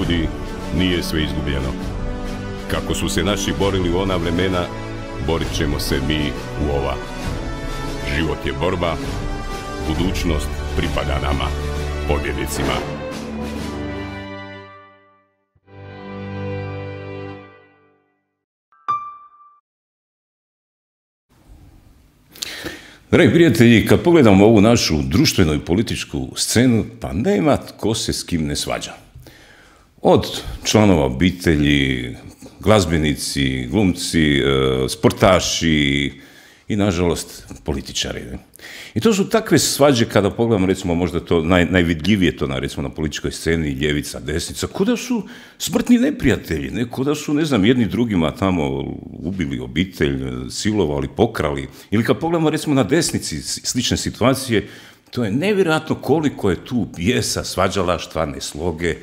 ljudi, nije sve izgubljeno. Kako su se naši borili u ona vremena, borit ćemo se mi u ova. Život je borba, budućnost pripada nama, pobjednicima. Dragi prijatelji, kad pogledamo ovu našu društvenu i političku scenu, pa nema tko se s kim ne svađa. Od članova obitelji, glazbenici, glumci, sportaši i, nažalost, političari. I to su takve svađe kada pogledamo, recimo, možda to najvidljivije to recimo na političkoj sceni, ljevica, desnica, kuda su smrtni neprijatelji, kuda su, ne znam, jedni drugima tamo ubili obitelj, silovali, pokrali. Ili kad pogledamo, recimo, na desnici slične situacije, to je nevjerojatno koliko je tu bijesa, svađalaštva, nesloge.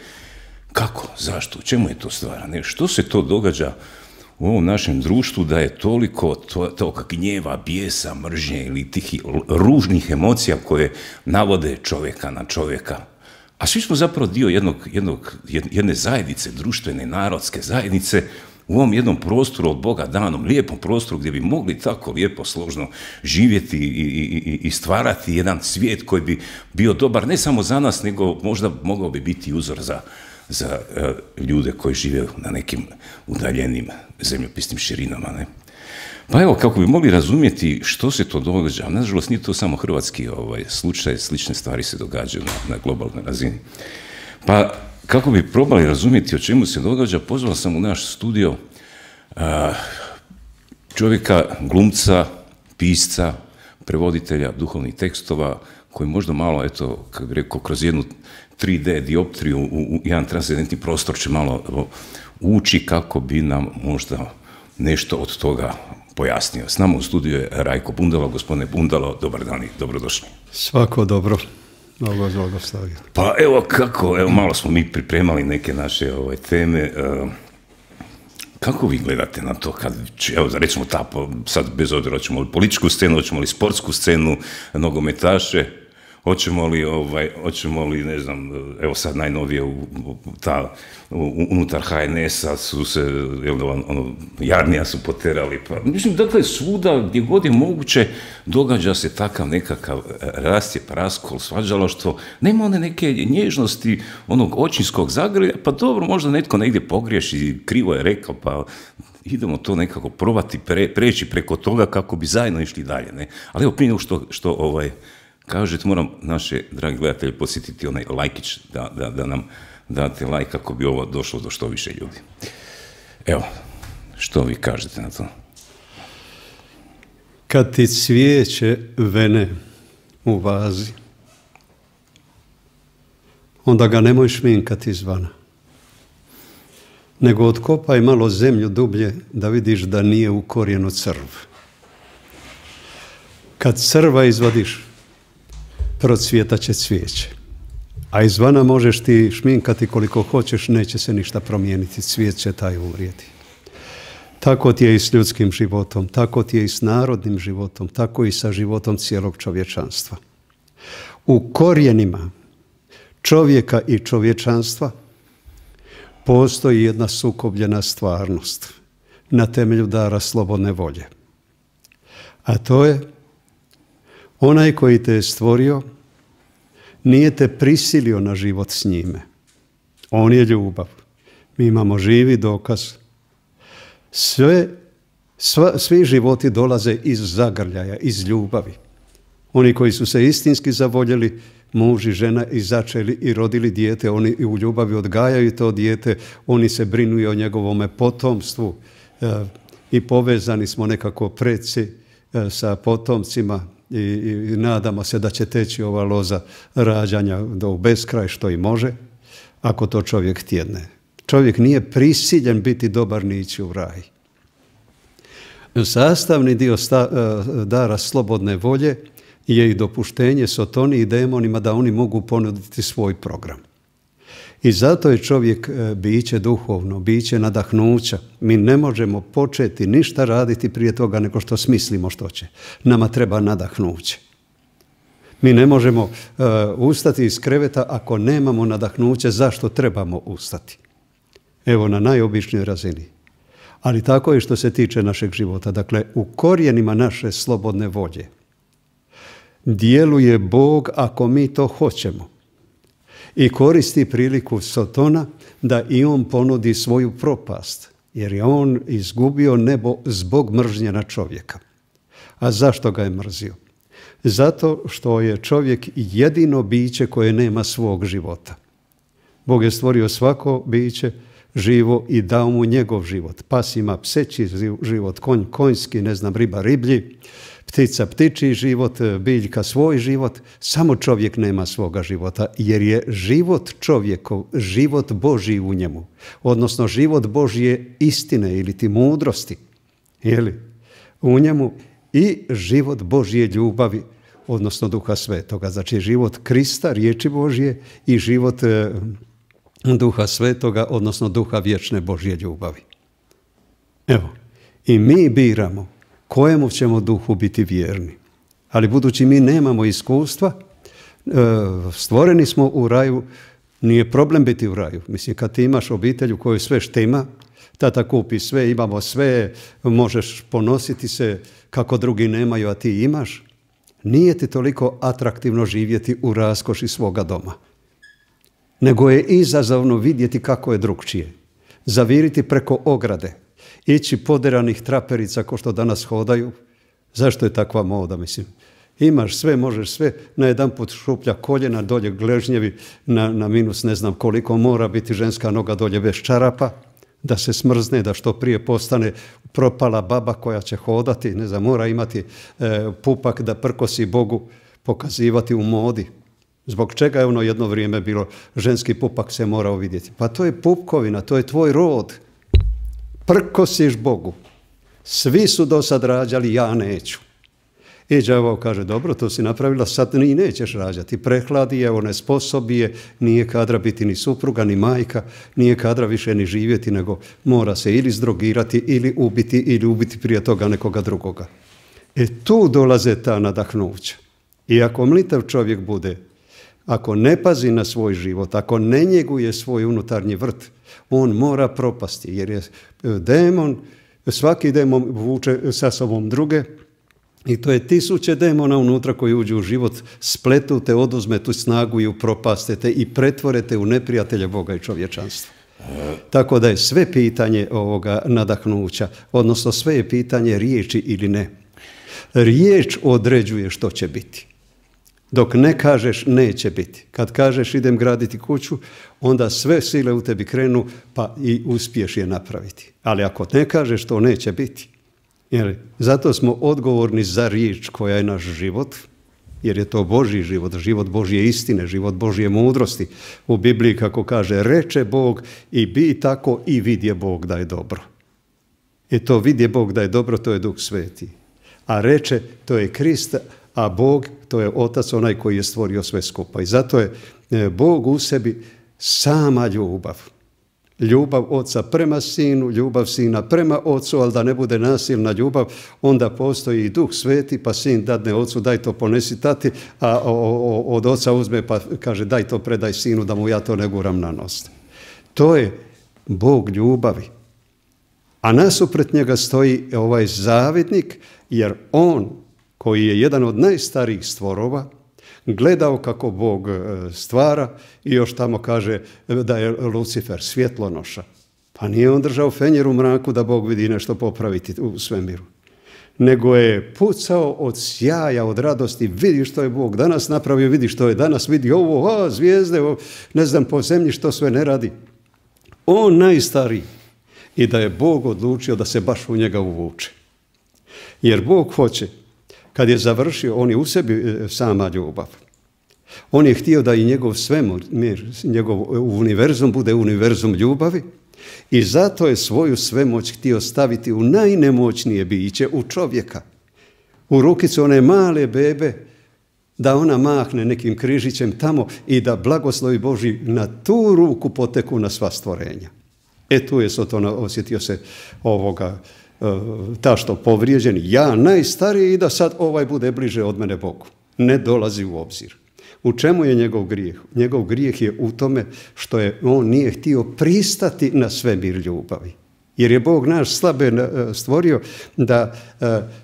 Kako? Zašto? U čemu je to stvar? Što se to događa u ovom našem društvu da je toliko toga gnjeva, bijesa, mržnje ili tih ružnih emocija koje navode čovjeka na čovjeka? A svi smo zapravo dio jedne zajednice, društvene, narodske zajednice, u ovom jednom prostoru od Boga danom, lijepom prostoru gdje bi mogli tako lijepo, složno živjeti i stvarati jedan svijet koji bi bio dobar ne samo za nas, nego možda mogao bi biti uzor za ljude koji žive na nekim udaljenim zemljopisnim širinama. Pa evo, kako bi mogli razumjeti što se to događa, nažalost nije to samo hrvatski slučaj, slične stvari se događaju na globalnoj razini. Pa kako bi probali razumjeti o čemu se događa, pozvao sam u naš studio čovjeka, glumca, pisca, prevoditelja duhovnih tekstova, koji možda malo, eto, kako bi rekao, kroz jednu 3D dioptriju u jedan transcendentni prostor će malo ući kako bi nam možda nešto od toga pojasnio. S nama u studiju je Rajko Bundalo. Gospodine Bundalo, dobar dan i dobrodošli. Svako dobro. Pa evo kako, evo malo smo mi pripremali neke naše teme. Kako vi gledate na to kad, evo recimo sad bez obzira hoćemo li političku scenu, hoćemo li sportsku scenu, nogometaše, hoćemo li, ne znam, evo sad najnovije unutar HNS-a su se, Jarnija su poterali, pa mislim, dakle, svuda gdje god je moguće događa se takav nekakav rascijep, raskol, svađalaštvo, nema one neke nježnosti, onog očinskog zagrlja, pa dobro, možda netko negdje pogriješi, krivo je rekao, pa idemo to nekako probati preći preko toga kako bi zajedno išli dalje, ne? Ali evo, prije nego što kažete, moram naše dragi gledatelje podsjetiti onaj lajkić, da nam date lajk kako bi ovo došlo do što više ljudi. Evo, što vi kažete na to? Kad ti cvijeće vene u vazi, onda ga nemoj šminkati izvana, nego otkopaj malo zemlju dublje da vidiš da nije u korijenu crv. Kad crva izvadiš, procvjetat će cvijeće. A izvana možeš ti šminkati koliko hoćeš, neće se ništa promijeniti, cvijet će taj umrijeti. Tako ti je i s ljudskim životom, tako ti je i s narodnim životom, tako i sa životom cijelog čovječanstva. U korijenima čovjeka i čovječanstva postoji jedna sukobljena stvarnost na temelju dara slobodne volje. A to je onaj koji te je stvorio nije te prisilio na život s njime. On je ljubav. Mi imamo živi dokaz. Svi životi dolaze iz zagrljaja, iz ljubavi. Oni koji su se istinski zavoljeli, muž i žena, i začeli i rodili dijete, oni u ljubavi odgajaju to dijete, oni se brinu i o njegovome potomstvu i povezani smo nekako preci sa potomcima i nadamo se da će teći ova loza rađanja do beskraj, što i može, ako to čovjek htjedne. Čovjek nije prisiljen biti dobar ni ići u raj. Sastavni dio dara slobodne volje je i dopuštenje sotoni i demonima da oni mogu ponuditi svoj program. I zato je čovjek biće duhovno, biće nadahnuća. Mi ne možemo početi ništa raditi prije toga nego što smislimo što će. Nama treba nadahnuće. Mi ne možemo ustati iz kreveta ako nemamo nadahnuće zašto trebamo ustati. Evo, na najobičnijoj razini. Ali tako je što se tiče našeg života. Dakle, u korijenima naše slobodne volje djeluje Bog ako mi to hoćemo. I koristi priliku Sotona da i on ponudi svoju propast. Jer je on izgubio nebo zbog mržnje na čovjeka. A zašto ga je mrzio? Zato što je čovjek jedino biće koje nema svog života. Bog je stvorio svako biće živo i dao mu njegov život. Pas ima pseći život, konj konjski, riba riblji, ptica ptičji život, biljka svoj život. Samo čovjek nema svoga života, jer je život čovjekov, život Božji u njemu. Odnosno život Božje istine ili ti mudrosti. U njemu i život Božje ljubavi, odnosno Duha Svetoga. Znači život Krista, riječi Božje i život Duha Svetoga, odnosno Duha vječne Božje ljubavi. Evo, i mi biramo kojemu ćemo duhu biti vjerni. Ali budući mi nemamo iskustva, stvoreni smo u raju, nije problem biti u raju. Mislim, kad ti imaš obitelj u kojoj sve štima, tata kupi sve, imamo sve, možeš ponositi se kako drugi nemaju, a ti imaš, nije ti toliko atraktivno živjeti u raskoši svoga doma. Nego je izazovno vidjeti kako je drugčije. Zaviriti preko ograde, ići poderanih traperica ko što danas hodaju. Zašto je takva moda, mislim? Imaš sve, možeš sve, najedanput šuplja koljena, dolje gležnjevi, na minus ne znam koliko, mora biti ženska noga dolje bez čarapa, da se smrzne, da što prije postane propala baba koja će hodati, mora imati pupak da prkosi Bogu, pokazivati u modi. Zbog čega je ono jedno vrijeme bilo, ženski pupak se morao vidjeti? Pa to je pupkovina, to je tvoj rod. Prkosiš Bogu. Svi su do sad rađali, ja neću. I đavo kaže, dobro, to si napravila, sad ni nećeš rađati. Prehladi je, onesposobi je, nije kadra biti ni supruga, ni majka, nije kadra više ni živjeti, nego mora se ili zdrogirati, ili ubiti prije toga nekoga drugoga. Tu dolaze ta nadahnuća. I ako mlitav čovjek bude, ako ne pazi na svoj život, ako ne njeguje svoj unutarnji vrt, on mora propasti, jer je demon, svaki demon vuče sa sobom druge, i to je tisuće demona unutra koji uđu u život, spletu te, oduzme tu snagu i upropastete i pretvorete u neprijatelja Boga i čovječanstva. Tako da je sve pitanje ovoga nadahnuća, odnosno sve je pitanje riječi ili ne. Riječ određuje što će biti. Dok ne kažeš, neće biti. Kad kažeš idem graditi kuću, onda sve sile u tebi krenu pa i uspiješ je napraviti. Ali ako ne kažeš, to neće biti. Zato smo odgovorni za riječ koja je naš život, jer je to Božji život, život Božje istine, život Božje mudrosti. U Bibliji kako kaže, reče Bog i bi tako i vidje Bog da je dobro. I to vidje Bog da je dobro, to je Duh Sveti. A reče, to je Krist, a Bog, to je Otac, onaj koji je stvorio sve skupa. I zato je Bog u sebi sama ljubav. Ljubav Oca prema Sinu, ljubav Sina prema Ocu, ali da ne bude nasilna ljubav, onda postoji i Duh Sveti, pa Sin dadne Ocu, daj to ponesi tati, a od Oca uzme pa kaže daj to predaj Sinu da mu ja to ne guram na nos. To je Bog ljubavi. A nasuprot njega stoji ovaj zavidnik, jer on, koji je jedan od najstarijih stvorova, gledao kako Bog stvara i još tamo kaže da je Lucifer svjetlonoša. Pa nije on držao fenjer u mraku da Bog vidi nešto popraviti u svemiru. Nego je pucao od sjaja, od radosti, vidi što je Bog danas napravio, vidi što je danas, vidi ovo, zvijezde, ne znam po zemlji što sve ne radi. On najstariji. I da je Bog odlučio da se baš u njega uvuče. Jer Bog hoće, kad je završio, on je u sebi sama ljubav. On je htio da i njegov svemir, njegov univerzum bude univerzum ljubavi i zato je svoju svemoć htio staviti u najnemoćnije biće, u čovjeka. U rukicu one male bebe, da ona mahne nekim križićem tamo i da blagoslovi Božji na tu ruku poteku na sva stvorenja. Tu je Soton osjetio se tašto povrijeđen, ja najstariji i da sad ovaj bude bliže od mene Bogu. Ne dolazi u obzir. U čemu je njegov grijeh? Njegov grijeh je u tome što on nije htio pristati na svemir ljubavi. Jer je Bog naš slabe stvorio da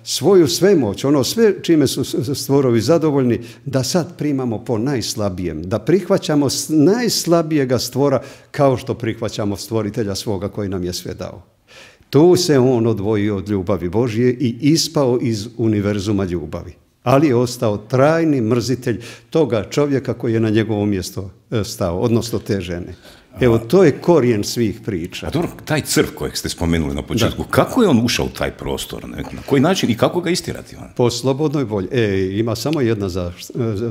svoju svemoć, ono sve čime su stvorovi zadovoljni, da sad primamo po najslabijem, da prihvaćamo najslabijega stvora kao što prihvaćamo stvoritelja svoga koji nam je sve dao. Tu se on odvojio od ljubavi Božje i ispao iz univerzuma ljubavi. Ali je ostao trajni mrzitelj toga čovjeka koji je na njegovo mjesto stao, odnosno te žene. Evo, to je korijen svih priča. A dobro, taj crv kojeg ste spomenuli na početku, kako je on ušao u taj prostor? Na koji način i kako ga istirati? Po slobodnoj volji. Ima samo jedna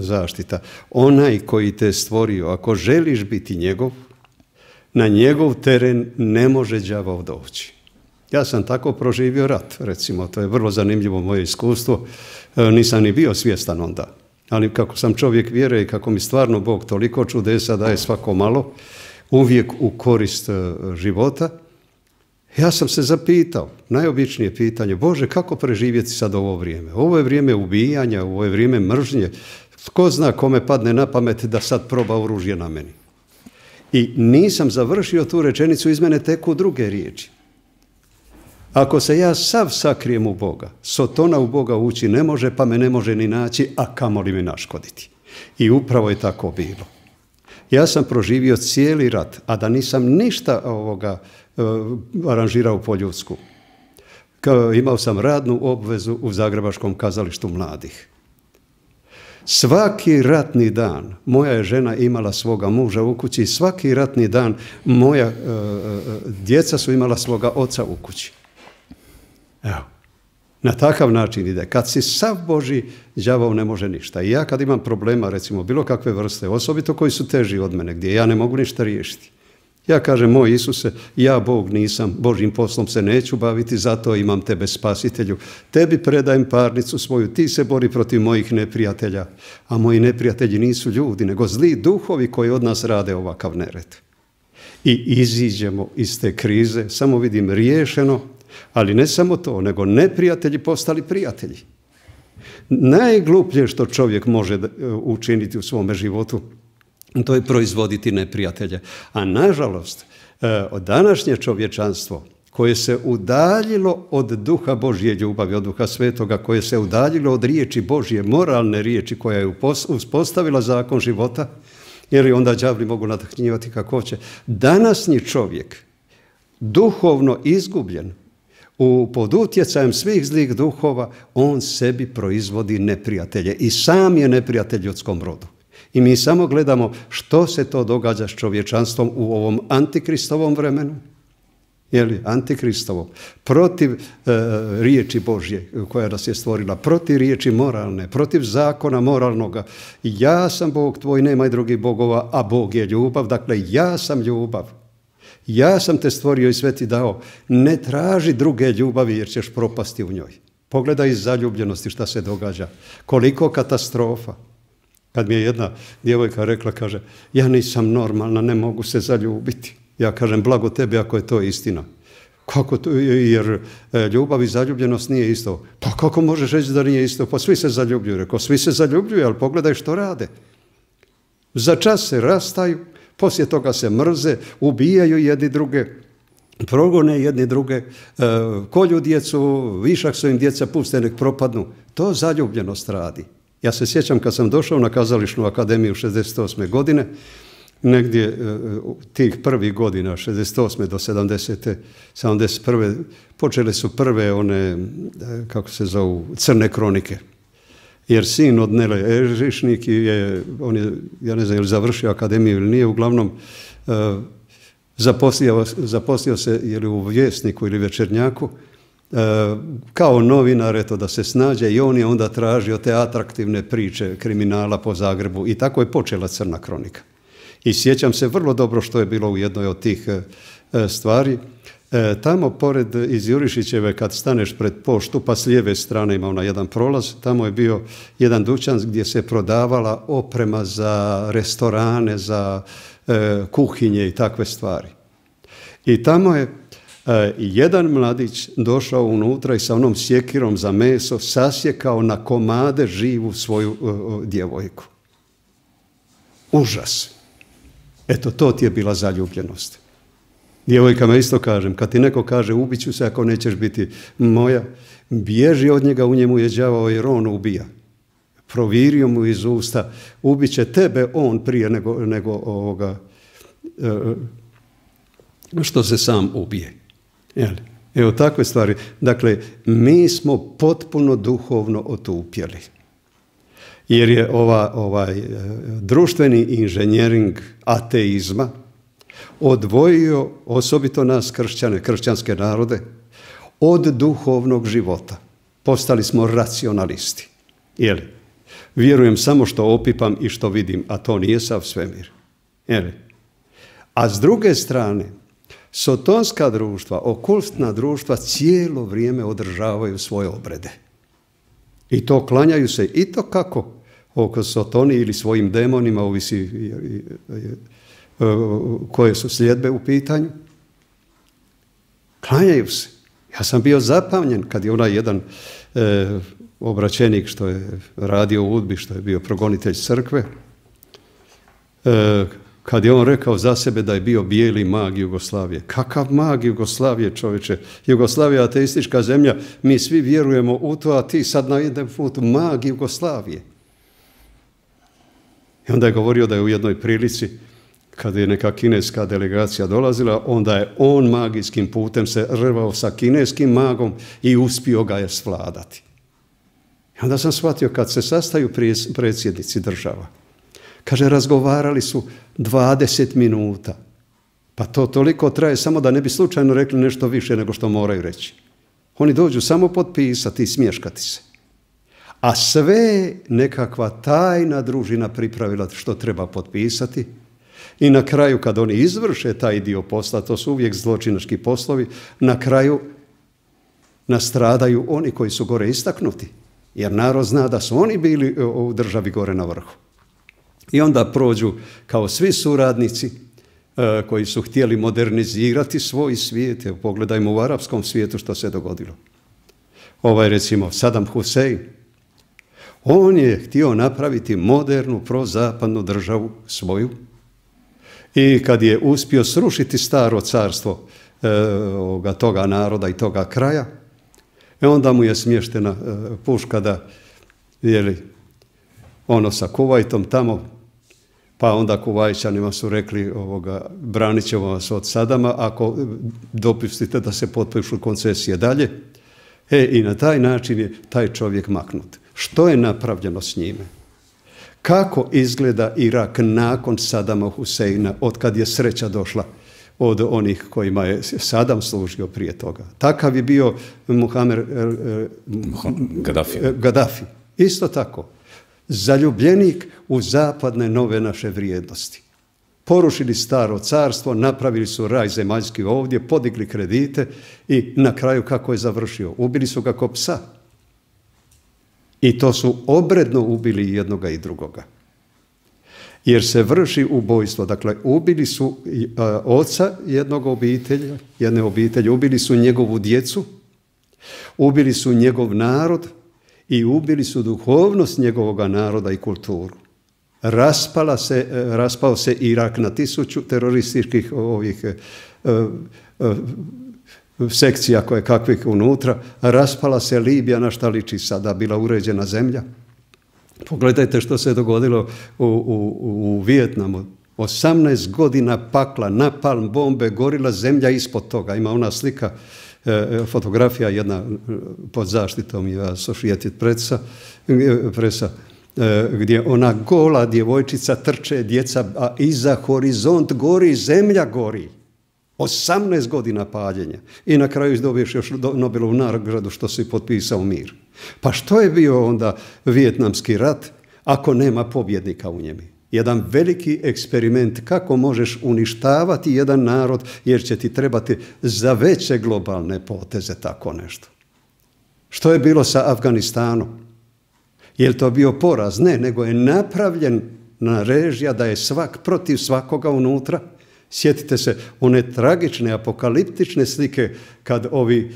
zaštita. Onaj koji te stvorio, ako želiš biti njegov, na njegov teren ne može đavao doći. Ja sam tako proživio rat, recimo, to je vrlo zanimljivo moje iskustvo. Nisam ni bio svjestan onda. Ali kako sam čovjek vjere i kako mi stvarno Bog toliko čudesa daje svako malo, uvijek u korist života, ja sam se zapitao, najobičnije pitanje, Bože, kako preživjeti sad ovo vrijeme? Ovo je vrijeme ubijanja, ovo je vrijeme mržnje. Tko zna kome padne na pamet da sad proba oružje na meni? I nisam završio tu rečenicu, iz mene teku druge riječi. Ako se ja sav sakrijem u Boga, sotona u Boga ući ne može, pa me ne može ni naći, a kamoli mi naškoditi. I upravo je tako bilo. Ja sam proživio cijeli rat, a da nisam ništa aranžirao po ljudsku. Imao sam radnu obvezu u Zagrebačkom kazalištu mladih. Svaki ratni dan moja je žena imala svoga muža u kući, svaki ratni dan moja djeca su imala svoga oca u kući. Evo, na takav način ide. Kad si sav Božji, đavao ne može ništa. I ja kad imam problema, recimo, bilo kakve vrste, osobito koji su teži od mene, gdje ja ne mogu ništa riješiti. Ja kažem, moj Isuse, ja Bog nisam, Božjim poslom se neću baviti, zato imam tebe spasitelju. Tebi predajem parnicu svoju, ti se bori protiv mojih neprijatelja. A moji neprijatelji nisu ljudi, nego zli duhovi koji od nas rade ovakav nered. I iziđemo iz te krize, samo vidim riješeno, ali ne samo to, nego neprijatelji postali prijatelji. Najgluplje što čovjek može učiniti u svome životu, to je proizvoditi neprijatelje. A nažalost, današnje čovječanstvo koje se udaljilo od duha Božje ljubavi, od duha svetoga, koje se udaljilo od riječi Božje, moralne riječi koja je uspostavila zakon života, jer i onda đavli mogu nadahnjivati kako hoće. Današnji čovjek, duhovno izgubljen, pod utjecajem svih zlih duhova, on sebi proizvodi neprijatelje i sam je neprijatelj ljudskom rodu. I mi samo gledamo što se to događa s čovječanstvom u ovom antikristovom vremenu, antikristovom, protiv riječi Božje koja nas je stvorila, protiv riječi moralne, protiv zakona moralnoga. Ja sam Bog tvoj, nemaj drugih bogova, a Bog je ljubav, dakle ja sam ljubav. Ja sam te stvorio i sve ti dao. Ne traži druge ljubavi jer ćeš propasti u njoj. Pogledaj iz zaljubljenosti šta se događa. Koliko katastrofa. Kad mi je jedna djevojka rekla, kaže, ja nisam normalna, ne mogu se zaljubiti. Ja kažem, blago tebi ako je to istina. Kako to? Jer ljubav i zaljubljenost nije isto. Pa kako možeš reći da nije isto? Pa svi se zaljubljuju. Rekao, svi se zaljubljuju, ali pogledaj što rade. Za čas se rastaju, poslije toga se mrze, ubijaju jedni druge, progone jedni druge, kolju djecu, višak su im djeca, puste nek propadnu. To zaljubljenost radi. Ja se sjećam kad sam došao na Kazališnu akademiju 68. godine, negdje tih prvih godina, 68. do 70. 71. počele su prve one, kako se zovu, crne kronike. Jer sin od Nele Eržišnik on je, ja ne znam, je li završio akademiju ili nije, uglavnom zaposlio se ili u Vjesniku ili Večernjaku, kao novinar, eto, da se snađe, i on je onda tražio te atraktivne priče kriminala po Zagrebu i tako je počela crna kronika. I sjećam se vrlo dobro što je bilo u jednoj od tih stvari. Tamo pored iz Jurišićeve kad staneš pred poštu, pa s lijeve strane ima ona jedan prolaz, tamo je bio jedan dućan gdje se prodavala oprema za restorane, za kuhinje i takve stvari. I tamo je jedan mladić došao unutra i sa onom sjekirom za meso sasjekao na komade živu svoju djevojku. Užas. Eto, to ti je bila zaljubljenost. Djevojkama isto kažem, kad ti neko kaže ubit ću se ako nećeš biti moja, bježi od njega, u njemu je đavao jer on ubija. Provirio mu iz usta, ubit će tebe on prije nego ovoga, što se sam ubije. Evo takve stvari. Dakle, mi smo potpuno duhovno otupjeli. Jer je ovaj društveni inženjering ateizma odvojio osobito nas kršćane, kršćanske narode, od duhovnog života. Postali smo racionalisti. Vjerujem samo što opipam i što vidim, a to nije sav svemir. A s druge strane, sotonska društva, okultna društva cijelo vrijeme održavaju svoje obrede. I to klanjaju se i to kako? Oko sotoni ili svojim demonima, ovisi koje su sljedbe u pitanju. Klanjaju se. Ja sam bio zapamljen kad je onaj jedan obraćenik što je radio u UDBI, što je bio progonitelj crkve, kad je on rekao za sebe da je bio bijeli mag Jugoslavije. Kakav mag Jugoslavije, čovječe? Jugoslavija je ateistička zemlja, mi svi vjerujemo u to, a ti sad na jedan put mag Jugoslavije. I onda je govorio da je u jednoj prilici, kada je neka kineska delegacija dolazila, onda je on magijskim putem se rvao sa kineskim magom i uspio ga je svladati. I onda sam shvatio kad se sastaju predsjednici država, kaže, razgovarali su 20 minuta. Pa to toliko traje samo da ne bi slučajno rekli nešto više nego što moraju reći. Oni dođu samo potpisati i smješkati se. A sve nekakva tajna družina pripravila što treba potpisati. I na kraju kad oni izvrše taj dio posla, to su uvijek zločinački poslovi, na kraju nastradaju oni koji su gore istaknuti. Jer narod zna da su oni bili u državi gore na vrhu. I onda prođu kao svi suradnici koji su htjeli modernizirati svoj svijet. Evo, pogledajmo u arapskom svijetu što se dogodilo. Recimo Saddam Hussein, on je htio napraviti modernu prozapadnu državu svoju i kad je uspio srušiti staro carstvo toga naroda i toga kraja, onda mu je smještena puška da ono sa Kuvajtom tamo, pa onda Kuvajčanima su rekli branit ćemo vas od Sadama ako dopustite da se potpišu koncesije dalje. I na taj način je taj čovjek maknut. Što je napravljeno s njime? Kako izgleda Irak nakon Sadama Huseina, od kad je sreća došla od onih kojima je Sadam služio prije toga? Takav je bio Gaddafi. Isto tako. Zaljubljenik u zapadne nove naše vrijednosti. Porušili staro carstvo, napravili su raj zemaljski ovdje, podigli kredite i na kraju kako je završio? Ubili su ga ko psa. I to su obredno ubili jednoga i drugoga. Jer se vrši ubojstvo. Dakle, ubili su oca jedne obitelji, ubili su njegovu djecu, ubili su njegov narod i ubili su duhovnost njegovoga naroda i kulturu. Raspao se Irak na 1000 terorističkih sekcija koje kakvih unutra, raspala se Libija, na šta liči sada, bila uređena zemlja. Pogledajte što se dogodilo u Vijetnamu. 18 godina pakla, napalm, bombe, gorila zemlja ispod toga. Ima ona slika, fotografija jedna pod zaštitom Associated Pressa, gdje ona gola djevojčica trče, djeca, a iza horizont gori, zemlja gori. 18 godina paljenja. I na kraju dobiješ još Nobelovu nagradu što si potpisao mir. Pa što je bio onda Vijetnamski rat ako nema pobjednika u njemu? Jedan veliki eksperiment kako možeš uništavati jedan narod jer će ti trebati za veće globalne poteze tako nešto. Što je bilo sa Afganistanom? Je li to bio poraz? Ne, nego je napravljena režija da je svak protiv svakoga unutra. Sjetite se one tragične apokaliptične slike kad ovi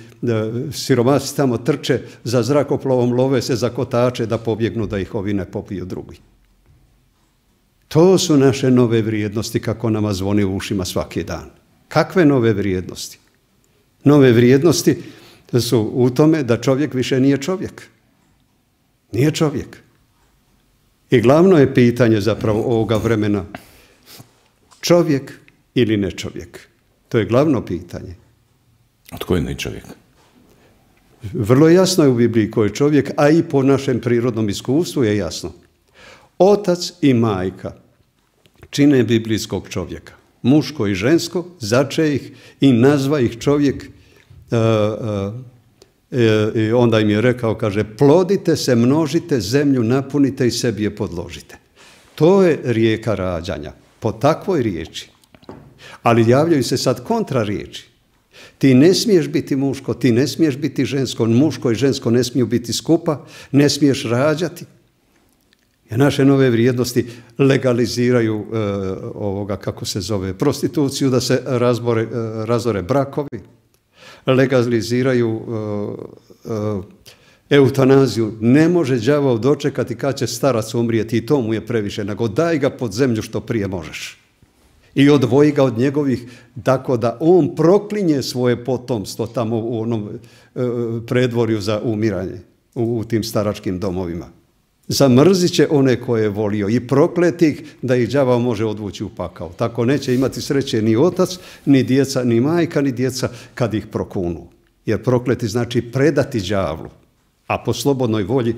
siromasi tamo trče za zrakoplovom, love se za kotače da pobjegnu da ih ovi ne popiju drugi. To su naše nove vrijednosti, kako nama zvoni u ušima svaki dan. Kakve nove vrijednosti? Nove vrijednosti su u tome da čovjek više nije čovjek. Nije čovjek. I glavno je pitanje zapravo ovoga vremena čovjek ili ne čovjek. To je glavno pitanje. A tko je ne čovjek? Vrlo jasno je u Bibliji ko je čovjek, a i po našem prirodnom iskustvu je jasno. Otac i majka čine biblijskog čovjeka. Muško i žensko, zače ih i nazva ih čovjek. I onda im je rekao, kaže, plodite se, množite, zemlju napunite i sebi je podložite. To je rijeka rađanja, po takvoj riječi. Ali javljaju se sad kontra riječi. Ti ne smiješ biti muško, ti ne smiješ biti žensko, muško i žensko ne smiju biti skupa, ne smiješ rađati. Jer naše nove vrijednosti legaliziraju kako se zove, prostituciju, da se razore brakovi, legaliziraju eutanaziju. Ne može đavao dočekati kad će starac umrijeti i to mu je previše, nego daj ga pod zemlju što prije možeš. I odvoji ga od njegovih, tako da on proklinje svoje potomstvo tamo u onom predvorju za umiranje, u tim staračkim domovima. Zamrzit će one koje je volio i prokleti ih da ih đavao može odvući u pakao. Tako neće imati sreće ni otac, ni djeca, ni majka, ni djeca kad ih prokunu. Jer prokleti znači predati đavlu. A po slobodnoj volji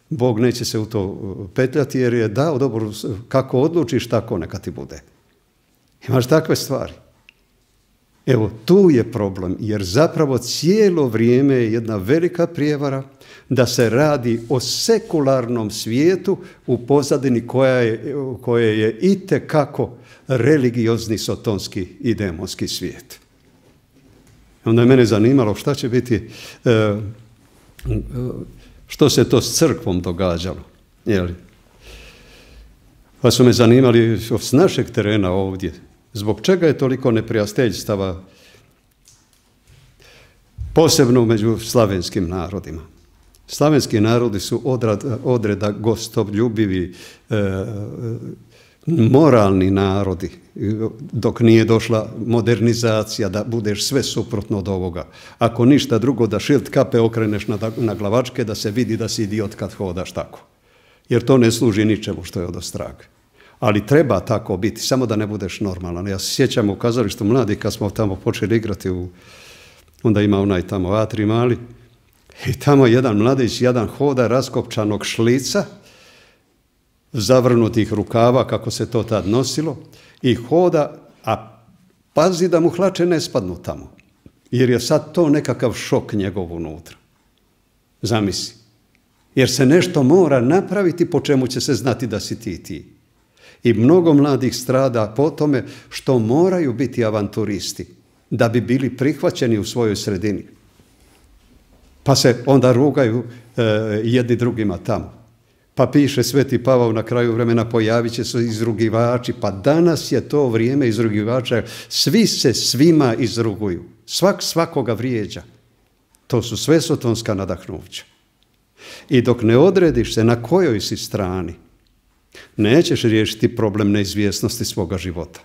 Bog neće se u to petljati jer je dao dobro, kako odlučiš tako neka ti bude. Imaš takve stvari. Evo, tu je problem, jer zapravo cijelo vrijeme je jedna velika prijevara da se radi o sekularnom svijetu u pozadini koje je itekako religiozni, sotonski i demonski svijet. Onda je mene zanimalo šta će biti, što se to s crkvom događalo. Jeli? Pa su me zanimali s našeg terena ovdje. Zbog čega je toliko neprijateljstava, posebno među slavenskim narodima? Slavenski narodi su odreda gostoljubivi, moralni narodi, dok nije došla modernizacija da budeš sve suprotno od ovoga. Ako ništa drugo, da šilt kape okreneš na glavačke, da se vidi da si idiot kad hodaš tako. Jer to ne služi ničemu što je odostraga. Ali treba tako biti, samo da ne budeš normalan. Ja se sjećam u kazalištu mladih kad smo tamo počeli igrati, onda ima onaj tamo atri mali, i tamo jedan mladić, jedan hoda raskopčanog šlica, zavrnutih rukava, kako se to tad nosilo, i hoda, a pazi da mu hlače ne spadnu tamo, jer je sad to nekakav šok njegov unutra. Zamisli. Jer se nešto mora napraviti po čemu će se znati da si ti. I mnogo mladih strada po tome što moraju biti avanturisti da bi bili prihvaćeni u svojoj sredini. Pa se onda rugaju jedni drugima tamo. Pa piše Sveti Pavao na kraju vremena, pojavit će se izrugivači. Pa danas je to vrijeme izrugivača. Svi se svima izruguju. Svak svakoga vrijeđa. To su sve sotonska nadahnuća. I dok ne odrediš se na kojoj si strani, nećeš riješiti problem neizvjesnosti svoga života.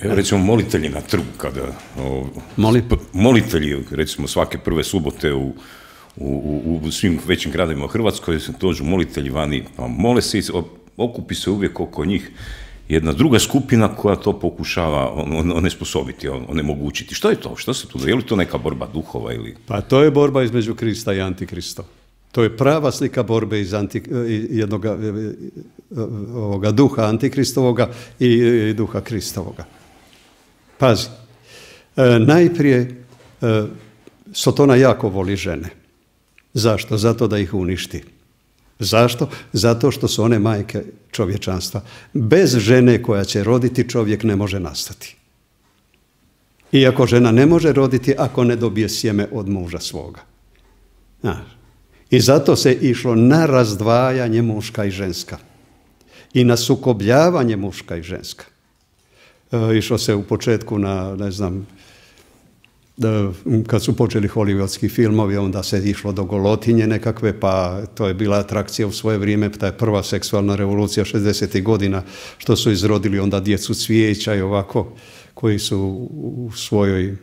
Evo recimo molitelji na trgu, kada molitelji recimo svake prve subote u svim većim gradovima u Hrvatskoj dođu molitelji vani, pa mole se, okupi se uvijek oko njih jedna druga skupina koja to pokušava onesposobiti, onemogućiti. Što je to? Što se tu? Je li to neka borba duhova ili? Pa to je borba između Krista i Antikrista. To je prava slika borbe iz ovoga duha Antikristovoga i duha Kristovoga. Pazi, najprije Sotona jako voli žene. Zašto? Zato da ih uništi. Zašto? Zato što su one majke čovječanstva. Bez žene koja će roditi čovjek ne može nastati. Iako žena ne može roditi ako ne dobije sjeme od muža svoga. I zato se išlo na razdvajanje muška i ženska. I na sukobljavanje muška i ženska. Išlo se u početku na, kad su počeli hollywoodski filmovi, onda se išlo do golotinje nekakve, pa to je bila atrakcija u svoje vrijeme, ta je prva seksualna revolucija 60. godina, što su izrodili onda djecu cvijeća i ovako, koji su u svojoj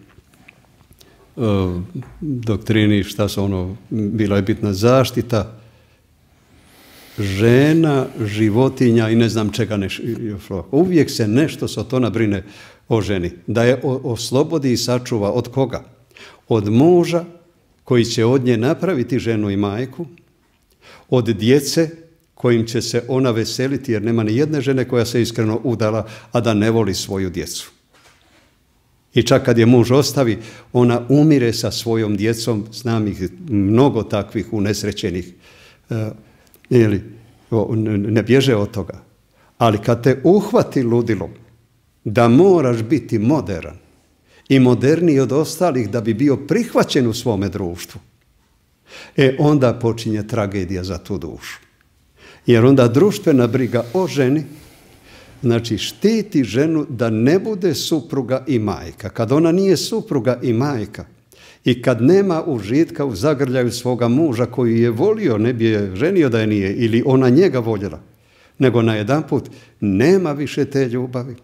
doktrini, šta su ono, bila je bitna zaštita žena, životinja i ne znam čega uvijek se nešto Sotona brine o ženi, da je oslobodi i sačuva od koga? Od muža koji će od nje napraviti ženu i majku, od djece kojim će se ona veseliti, jer nema ni jedne žene koja se iskreno udala, a da ne voli svoju djecu. I čak kad je muž ostavi, ona umire sa svojom djecom, znam ih mnogo takvih unesrećenih, ne bježe od toga. Ali kad te uhvati ludilo, da moraš biti modern i moderniji od ostalih da bi bio prihvaćen u svome društvu, onda počinje tragedija za tu dušu. Jer onda društvena briga o ženi, znači štiti ženu da ne bude supruga i majka. Kad ona nije supruga i majka i kad nema užitka u zagrljaju svoga muža koji je volio, ne bi je ženio da je nije, ili ona njega voljela, nego najedanput nema više te ljubavi.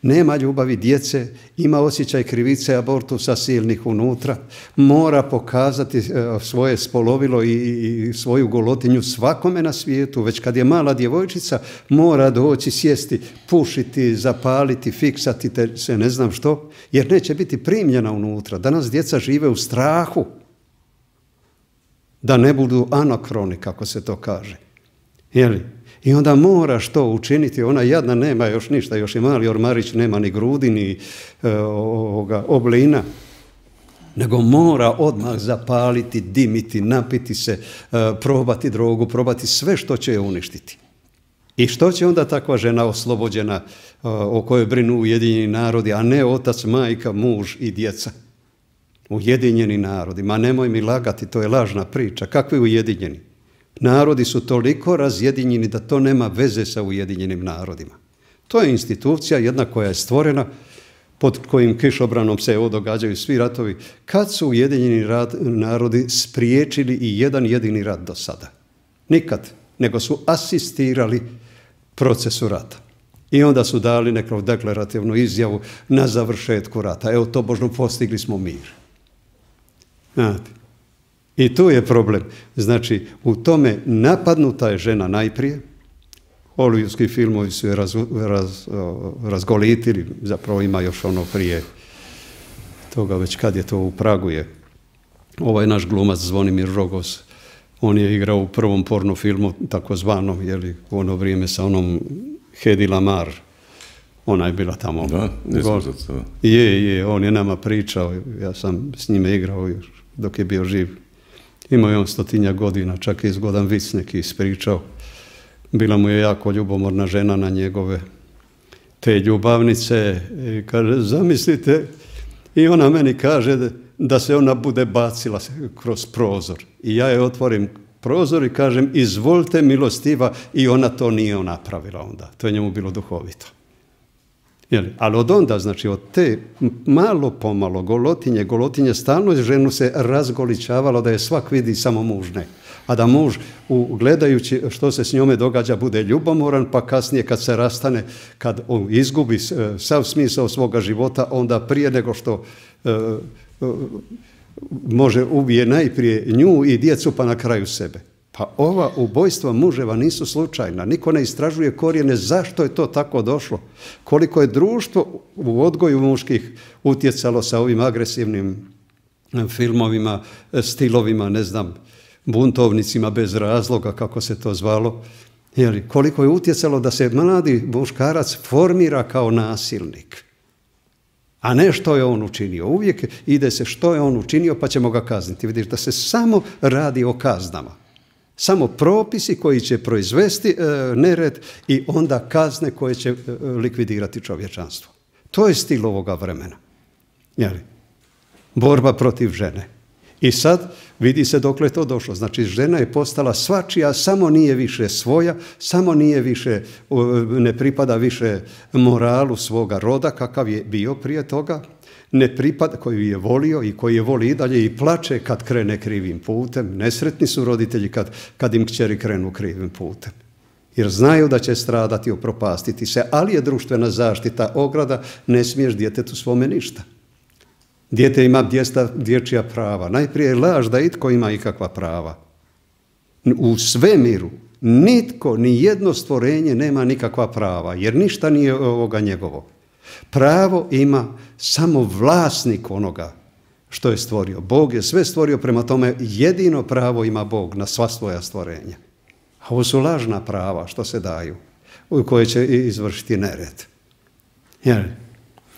Nema ljubavi djece, ima osjećaj krivice, abortusa silnih unutra, mora pokazati svoje spolovilo i svoju golotinju svakome na svijetu. Već kad je mala djevojčica, mora doći, sjesti, pušiti, zapaliti, fiksati se ne znam što, jer neće biti primljena unutra. Danas djeca žive u strahu da ne budu anakroni, kako se to kaže. Jeli? I onda moraš to učiniti, ona jadna nema još ništa, još je mali ormarić, nema ni grudi, ni oblina, nego mora odmah zapaliti, dimiti, napiti se, probati drogu, probati sve što će je uništiti. I što će onda takva žena oslobođena o kojoj brinu Ujedinjeni narodi, a ne otac, majka, muž i djeca? Ujedinjeni narodi, ma nemoj mi lagati, to je lažna priča. Kakvi ujedinjeni? Narodi su toliko razjedinjeni da to nema veze sa Ujedinjenim narodima. To je institucija jedna koja je stvorena, pod kojim kišobranom se događaju svi ratovi. Kad su Ujedinjeni narodi spriječili i jedan jedini rat do sada? Nikad, nego su asistirali procesu rata. I onda su dali neku deklarativnu izjavu na završetku rata. Evo, tobožno postigli smo mir. Znate. I tu je problem. Znači, u tome napadnuta je žena najprije. Hollywoodski filmovi su je razgolitili, zapravo ima još ono prije toga, već kad je to u Pragu je. Ovaj naš glumac Zvonimir Rogos, on je igrao u prvom porno filmu, takozvanom, u ono vrijeme sa onom Hedy Lamarr. Ona je bila tamo. Da, ne znam za to. Je, on je nama pričao, ja sam s njime igrao dok je bio živ. Imao je on 100-tinjak godina, čak je zgodan vic neki ispričao. Bila mu je jako ljubomorna žena na njegove te ljubavnice. I kaže, zamislite, i ona meni kaže da se ona bude bacila kroz prozor. I ja je otvorim prozor i kažem, izvolite milostiva, i ona to nije napravila onda. To je njemu bilo duhovito. Ali od onda, znači od te malo pomalo golotinje stalno ženu se razgoličavalo da je svak vidi, samo muž ne. A da muž, gledajući što se s njome događa, bude ljubomoran, pa kasnije kad se rastane, kad on izgubi sav smisao svoga života, onda prije nego što može ubije najprije nju i djecu, pa na kraju sebe. Pa ova ubojstva muževa nisu slučajna. Niko ne istražuje korijene zašto je to tako došlo. Koliko je društvo u odgoju muških utjecalo sa ovim agresivnim filmovima, stilovima, ne znam, buntovnicima bez razloga, kako se to zvalo. Koliko je utjecalo da se mladi muškarac formira kao nasilnik. A ne što je on učinio. Uvijek ide se što je on učinio, pa ćemo ga kazniti. Vidiš da se samo radi o kaznama. Samo propisi koji će proizvesti nered i onda kazne koje će likvidirati čovječanstvo. To je stil ovoga vremena. Borba protiv žene. I sad vidi se dokle je to došlo. Znači, žena je postala svačija, samo nije više svoja, samo nije više, ne pripada više moralu svoga roda kakav je bio prije toga, ne pripada, koju je volio i koji je voli i dalje i plače kad krene krivim putem. Nesretni su roditelji kad im kćeri krenu krivim putem. Jer znaju da će stradati, upropastiti se, ali je društvena zaštita ograda, ne smiješ djetetu svome ništa. Dijete ima dječja prava. Najprije je laž da itko ima ikakva prava. U svemiru nitko, ni jedno stvorenje nema nikakva prava, jer ništa nije ovoga njegovo. Pravo ima samo vlasnik onoga što je stvorio. Bog je sve stvorio, prema tome jedino pravo ima Bog na sva svoja stvorenja. A ovo su lažna prava što se daju, u koje će izvršiti nered.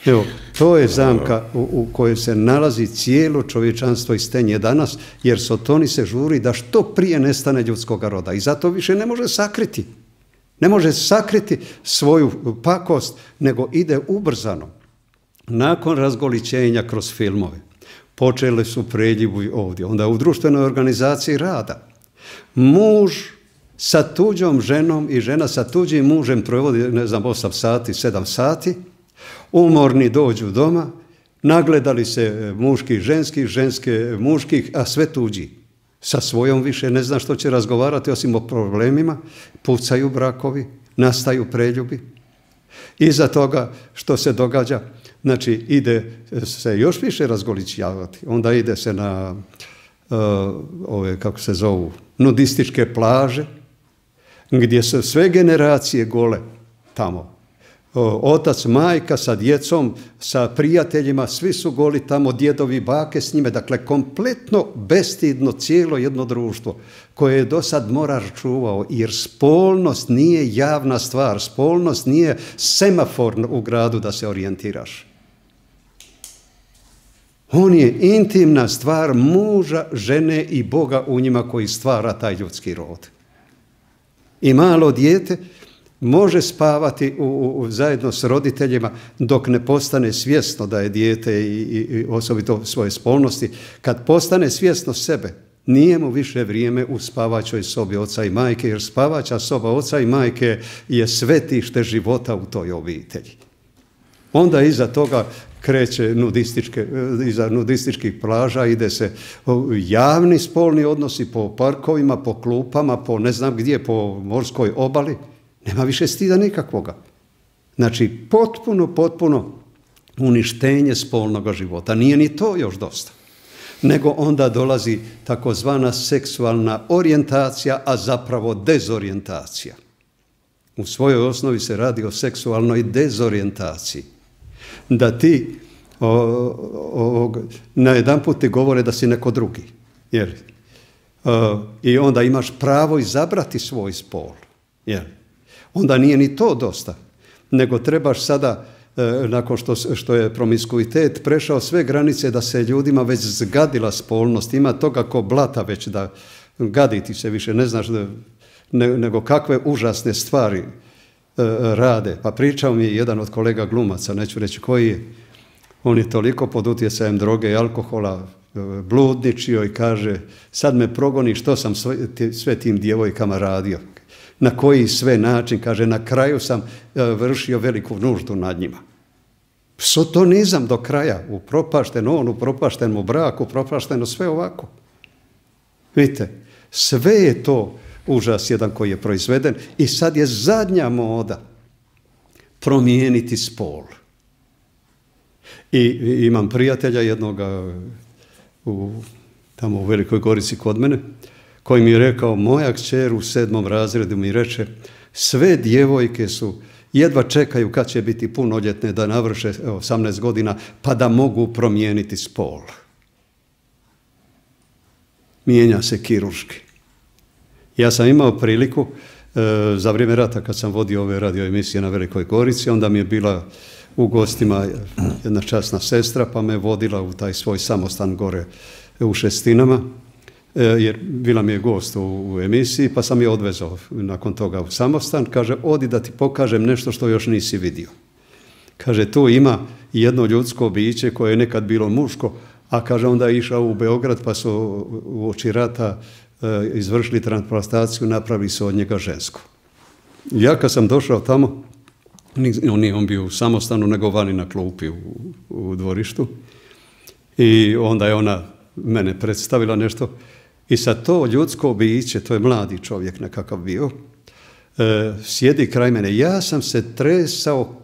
Evo, to je zamka u kojoj se nalazi cijelo čovječanstvo i stenje danas, jer Sotoni se žuri da što prije nestane ljudskog roda i zato više ne može sakriti. Ne može sakriti svoju pakost, nego ide ubrzano. Nakon razgolićenja kroz filmove počeli su preljivi ovdje, onda u društvenoj organizaciji rada. Muž sa tuđom ženom i žena sa tuđim mužem provodi, 8 sati, 7 sati, umorni dođu doma, nagledali se muških, ženske muških, a sve tuđi. Sa svojom više ne zna što će razgovarati osim o problemima, pucaju brakovi, nastaju preljubi. Iza toga što se događa, znači ide se još više razgolićavati, onda ide se na ove, kako se zovu, nudističke plaže, gdje su sve generacije gole tamo. Otac, majka sa djecom, sa prijateljima, svi su goli tamo, djedovi, bake s njime. Dakle, kompletno bestidno cijelo jedno društvo koje je do sad morar čuvao, jer spolnost nije javna stvar, spolnost nije semafor u gradu da se orijentiraš. On je intimna stvar muža, žene i Boga u njima koji stvara taj ljudski rod. I malo dijete može spavati zajedno s roditeljima dok ne postane svjesno da je dijete i osobito svoje spolnosti. Kad postane svjesno sebe, nije mu više vrijeme u spavačoj sobi oca i majke, jer spavača soba oca i majke je svetište života u toj obitelji. Onda iza toga kreće iza nudističkih plaža, ide se javni spolni odnosi po parkovima, po klupama, po ne znam gdje, po morskoj obali. Nema više stida nikakvoga. Znači, potpuno uništenje spolnog života. Nije ni to još dosta. Nego onda dolazi takozvana seksualna orijentacija, a zapravo dezorijentacija. U svojoj osnovi se radi o seksualnoj dezorijentaciji. Da ti najedanput ti govore da si neko drugi. I onda imaš pravo izabrati svoj spol. Onda nije ni to dosta, nego trebaš sada, nakon što je promiskuitet prešao sve granice, da se ljudima već zgadila spolnost, ima toga ko blata već da gadi ti se više, ne znaš nego kakve užasne stvari rade. Pa pričao mi je jedan od kolega glumaca, neću reći koji je, on je toliko pod utjecajem droge i alkohola bludničio i kaže, sad me progoni što sam sve tim djevojkama radio. Na koji sve način, kaže, na kraju sam vršio veliku nuždu nad njima. Sotonizam do kraja, upropašteno on, upropašteno brak, upropašteno sve ovako. Vidite, sve je to užas jedan koji je proizveden i sad je zadnja moda promijeniti spol. I imam prijatelja jednoga tamo u Velikoj Gorici kod mene, koji mi je rekao, moja kćer u 7. razredu mi reče, sve djevojke su, jedva čekaju kad će biti punoljetne da navrše 18 godina, pa da mogu promijeniti spol. Mijenja se kirurški. Ja sam imao priliku za vrijeme rata kad sam vodio ove radio emisije na Velikoj Gorici, onda mi je bila u gostima jedna časna sestra, pa me vodila u taj svoj samostan gore u Šestinama, jer bila mi je gost u emisiji, pa sam je odvezao nakon toga u samostan. Kaže, odi da ti pokažem nešto što još nisi vidio. Kaže, tu ima jedno ljudsko biće koje je nekad bilo muško, a kaže, onda je išao u Beograd pa su uoči rata izvršili transplantaciju, napravili su od njega žensko. Ja kad sam došao tamo, Nije on bio u samostanu, nego vani na klupi u dvorištu. I onda je ona mene predstavila nešto. I sad to ljudsko biće, to je mladi čovjek nekakav bio, sjedi kraj mene. Ja sam se tresao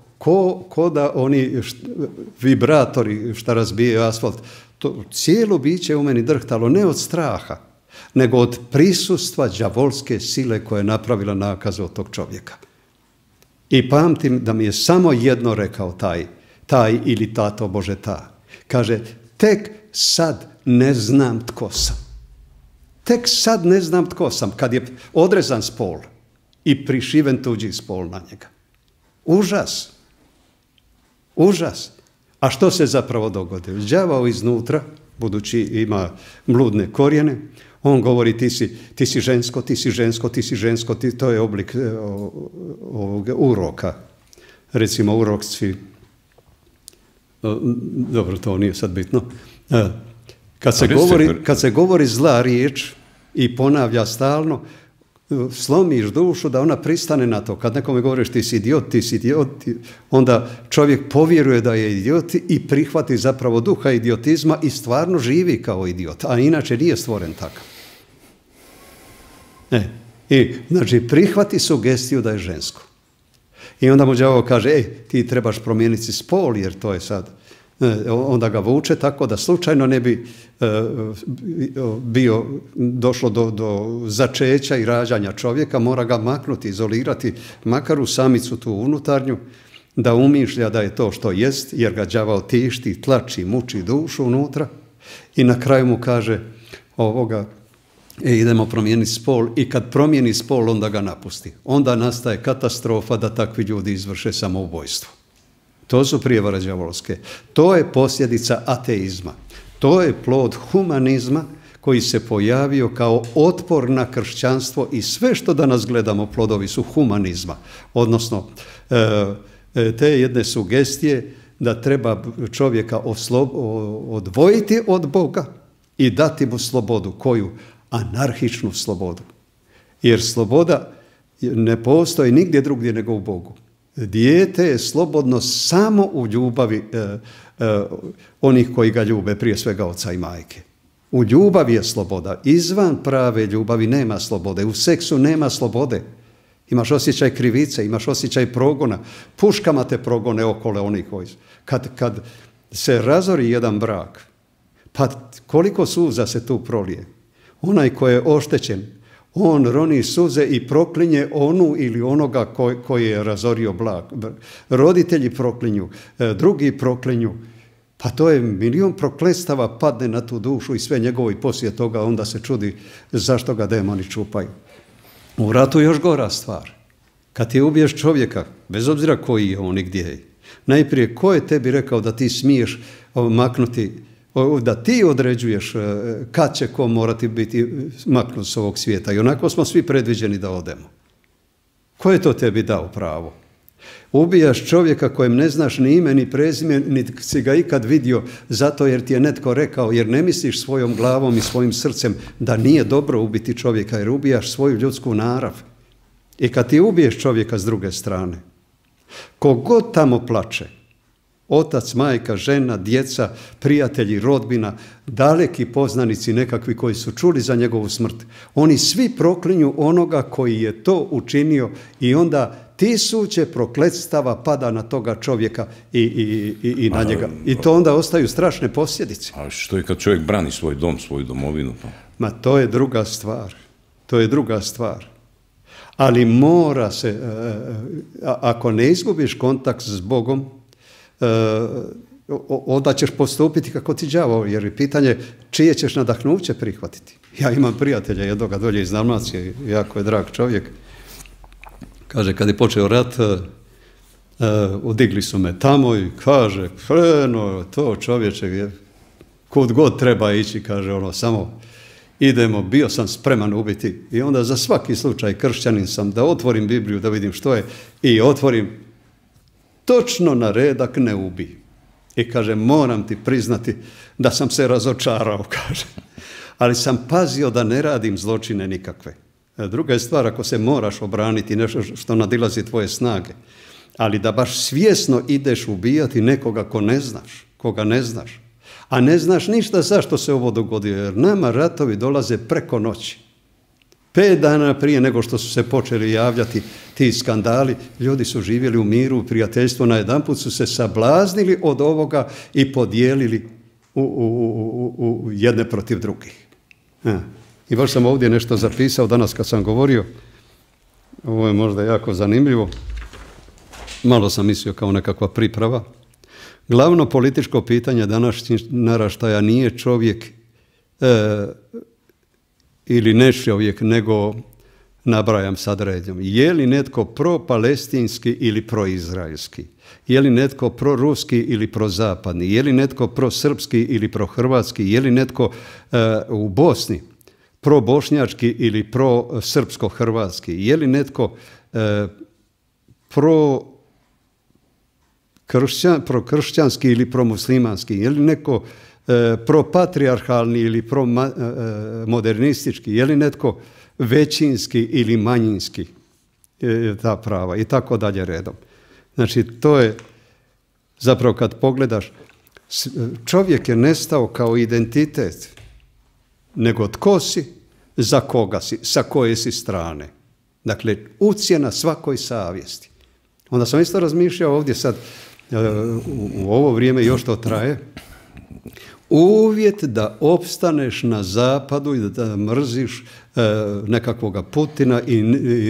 ko da oni vibratori šta razbijaju asfalt. To cijelo biće u meni drhtalo, ne od straha, nego od prisustva đavolske sile koja je napravila nakazu od tog čovjeka. I pamtim da mi je samo jedno rekao taj ili tato Bože ta. Kaže, tek sad ne znam tko sam. Tek sad ne znam tko sam, kad je odrezan spol i prišiven tuđi spol na njega. Užas. Užas. A što se zapravo dogodilo? Đavao iznutra, budući ima bludne korijene, on govori ti si žensko, ti si žensko, ti si žensko, to je oblik ovog uroka. Recimo urokci, dobro, to nije sad bitno. Kad se govori zla riječ i ponavlja stalno, slomiš dušu da ona pristane na to. Kad nekome govoriš ti si idiot, onda čovjek povjeruje da je idiot i prihvati zapravo duha idiotizma i stvarno živi kao idiot, a inače nije stvoren takav. I znači prihvati sugestiju da je žensko. I onda mu đavo kaže, ti trebaš promijeniti spol jer to je sad. Onda ga vuče tako da slučajno ne bi došlo do začeća i rađanja čovjeka, mora ga maknuti, izolirati, makar u samicu tu unutarnju, da umišlja da je to što jest, jer ga đavao tišti, tlači, muči dušu unutra i na kraju mu kaže idemo promijeniti spol i kad promijeni spol onda ga napusti. Onda nastaje katastrofa da takvi ljudi izvrše samoubojstvo. To su prijevare đavolske. To je posljedica ateizma. To je plod humanizma koji se pojavio kao otpor na kršćanstvo i sve što danas gledamo plodovi su humanizma. Odnosno, te jedne sugestije da treba čovjeka odvojiti od Boga i dati mu slobodu. Koju? Anarhičnu slobodu. Jer sloboda ne postoji nigdje drugdje nego u Bogu. Dijete je slobodno samo u ljubavi onih koji ga ljube, prije svega oca i majke. U ljubavi je sloboda. Izvan prave ljubavi nema slobode. U seksu nema slobode. Imaš osjećaj krivice, imaš osjećaj progona. Puškama te progone okolo onih koji su. Kad se razori jedan brak, pa koliko suza se tu prolije. Onaj koji je oštećen, on roni suze i proklinje onu ili onoga koji je razorio brak. Roditelji proklinju, drugi proklinju. Pa to je milion prokletstava padne na tu dušu i sve njegovo i poslije toga onda se čudi zašto ga demoni čupaju. U ratu je još gora stvar. Kad ti ubiješ čovjeka, bez obzira koji je on i gdje je, najprije ko je tebi rekao da ti smiješ maknuti, da ti određuješ kad će ko morati biti maknut s ovog svijeta. I onako smo svi predviđeni da odemo. Ko je to tebi dao pravo? Ubijaš čovjeka kojem ne znaš ni ime ni prezime, niti si ga ikad vidio zato jer ti je netko rekao, jer ne misliš svojom glavom i svojim srcem da nije dobro ubiti čovjeka, jer ubijaš svoju ljudsku narav. I kad ti ubiješ čovjeka s druge strane, kogod tamo plače, otac, majka, žena, djeca, prijatelji, rodbina, daleki poznanici nekakvi koji su čuli za njegovu smrt, oni svi proklinju onoga koji je to učinio i onda tisuće prokletstava pada na toga čovjeka i na njega. I to onda ostaju strašne posljedice. A što je kad čovjek brani svoj dom, svoju domovinu? Ma to je druga stvar. To je druga stvar. Ali mora se, ako ne izgubiš kontakt s Bogom, onda ćeš postupiti kako ti đavo, jer je pitanje čije ćeš nadahnuće prihvatiti. Ja imam prijatelja jednoga dolje iz Dalmacije, jako je drag čovjek. Kaže, kad je počeo rat, odigli su me tamo i kaže, to čovječe, kud god treba ići, kaže samo idemo, bio sam spreman ubiti. I onda za svaki slučaj kršćanin sam da otvorim Bibliju, da vidim što je, i otvorim točno na redak ne ubi. I kaže, moram ti priznati da sam se razočarao, kaže. Ali sam pazio da ne radim zločine nikakve. Druga je stvar ako se moraš obraniti nešto što nadilazi tvoje snage. Ali da baš svjesno ideš ubijati nekoga koga ne znaš, a ne znaš ništa zašto se ovo dogodilo, jer nama ratovi dolaze preko noći. 5 dana prije nego što su se počeli javljati ti skandali, ljudi su živjeli u miru, u prijateljstvu, najedanput su se sablaznili od ovoga i podijelili u jedne protiv drugih. I baš sam ovdje nešto zapisao danas kad sam govorio, ovo je možda jako zanimljivo, malo sam mislio kao nekakva priprava. Glavno političko pitanje današnjih naraštaja nije čovjek ili ne čovjek, nego nabrajam sad redom. Je li netko pro-palestinski ili pro-izraelski? Je li netko pro-ruski ili pro-zapadni? Je li netko pro-srpski ili pro-hrvatski? Je li netko u Bosni pro-bošnjački ili pro-srpsko-hrvatski? Je li netko pro-kršćanski ili pro-muslimanski? Je li neko pro-patrijarhalni ili pro-modernistički? Je li netko većinski ili manjinski? Ta prava i tako dalje redom. Znači, to je zapravo kad pogledaš, čovjek je nestao kao identitet, nego tko si, za koga si, sa koje si strane. Dakle, ucjena svakoj savjesti. Onda sam isto razmišljao ovdje sad, u ovo vrijeme još to traje, uvjet da opstaneš na zapadu i da mrziš nekakvoga Putina i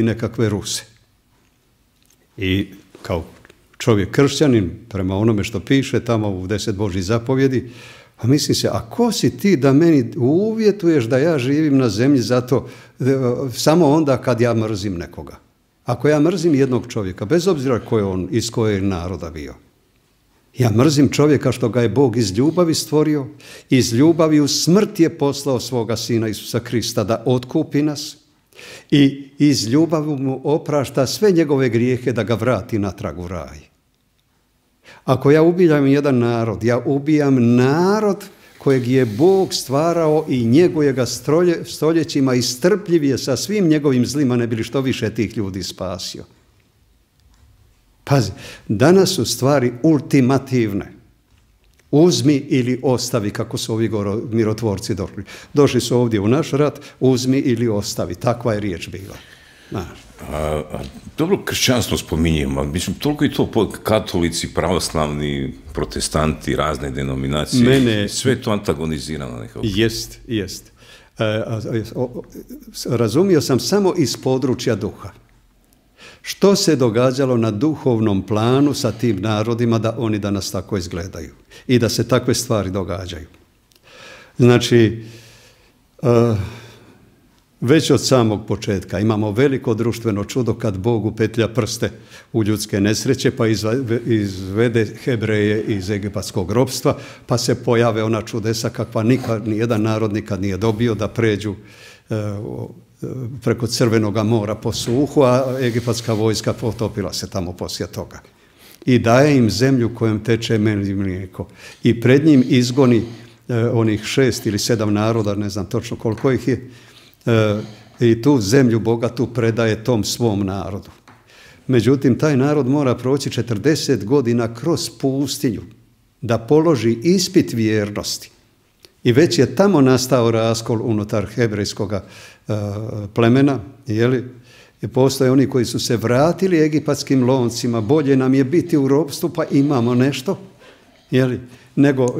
nekakve Ruse. I kao čovjek kršćanin, prema onome što piše tamo u 10 Božjih zapovjedi, a mislim se, a ko si ti da meni uvjetuješ da ja živim na zemlji zato samo onda kad ja mrzim nekoga? Ako ja mrzim jednog čovjeka, bez obzira ko je on, iz kojeg naroda bio, ja mrzim čovjeka što ga je Bog iz ljubavi stvorio, iz ljubavi u smrt je poslao svoga Sina Isusa Krista da otkupi nas i iz ljubavi mu oprašta sve njegove grijehe da ga vrati natrag u raj. Ako ja ubijam jedan narod, ja ubijam narod kojeg je Bog stvarao i njeguje ga stoljećima i strpljiv je sa svim njegovim zlima, ne bi li što više tih ljudi spasio. Pazi, danas su stvari ultimativne. Uzmi ili ostavi, kako su ovi mirotvorci došli. Došli su ovdje u naš rat, uzmi ili ostavi. Takva je riječ bila. Dobro, kršćanstvo spominjemo, mislim, toliko i to katolici, pravoslavni, protestanti, razne denominacije, sve to antagonizirano nekako. Jest. Razumio sam samo iz područja duha. Što se događalo na duhovnom planu sa tim narodima da oni danas tako izgledaju i da se takve stvari događaju. Znači, već od samog početka imamo veliko društveno čudo kad Bog upetlja prste u ljudske nesreće pa izvede Hebreje iz egipatskog ropstva, pa se pojave ona čudesa kakva nijedan narod nikad nije dobio, da pređu preko Crvenoga mora po suhu, a egipatska vojska potopila se tamo poslije toga. I daje im zemlju kojom teče med i mlijeko. I pred njim izgoni onih 6 ili 7 naroda, ne znam točno koliko ih je, i tu zemlju bogatu predaje tom svom narodu. Međutim, taj narod mora proći 40 godina kroz pustinju da položi ispit vjernosti. I već je tamo nastao raskol unutar hebrejskog plemena, i postoje oni koji su se vratili egipatskim loncima, bolje nam je biti u ropstvu pa imamo nešto,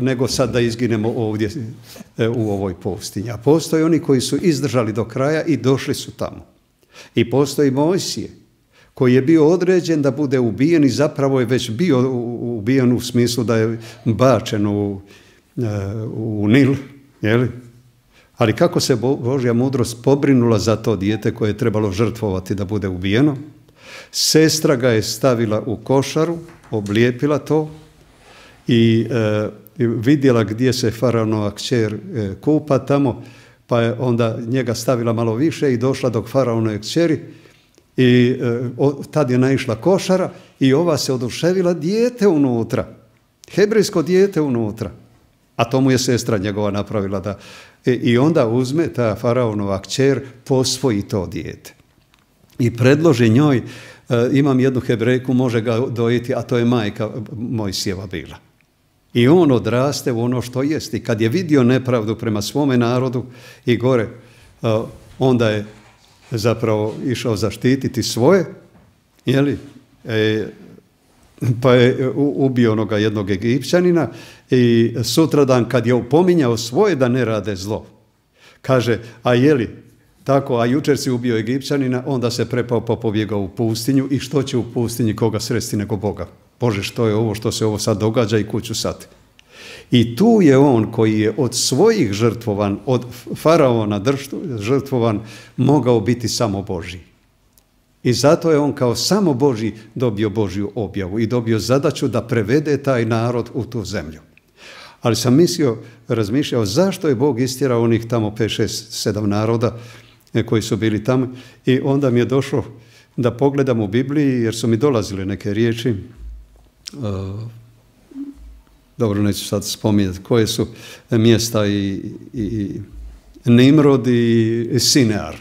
nego sad da izginemo ovdje u ovoj pustinji. A postoje oni koji su izdržali do kraja i došli su tamo. I postoji Mojsije koji je bio određen da bude ubijen i zapravo je već bio ubijen u smislu da je bačen u Nil, ali kako se Božja mudrost pobrinula za to dijete koje je trebalo žrtvovati da bude ubijeno, sestra ga je stavila u košaru, oblijepila to i vidjela gdje se faraonova kćer kupa tamo, pa je onda njega stavila malo više i došla do faraonove kćeri i tad je naišla košara i ova se oduševila, dijete unutra, hebrejsko dijete unutra. A to mu je sestra njegova napravila i onda uzme ta faraonova kćer, posvoji to dijete. i predloži njoj, imam jednu Hebrejku, može ga dojiti, a to je majka Mojsijeva bila. I on odraste u ono što jest. I kad je vidio nepravdu prema svome narodu i gore, onda je zapravo išao zaštititi svoje, jeli? Pa je ubio onoga jednog Egipćanina i sutradan kad je opominjao svoje da ne rade zlo, kaže, a jeli tako, a jučer si ubio Egipćanina, onda se prepao pa pobjegao u pustinju i što će u pustinji koga sresti nego Boga? Bože, što je ovo, što se ovo sad događa i kuću sad? I tu je on koji je od svojih žrtvovan, od faraona žrtvovan, mogao biti samo Božji. I zato je on kao samo Božji dobio Božju objavu i dobio zadaću da prevede taj narod u tu zemlju. Ali sam razmišljao zašto je Bog istjerao onih tamo 5, 6, 7 naroda koji su bili tamo i onda mi je došlo da pogledam u Bibliji jer su mi dolazile neke riječi, dobro neću sad spominjati koje su mjesta i Nimrod i Sinear,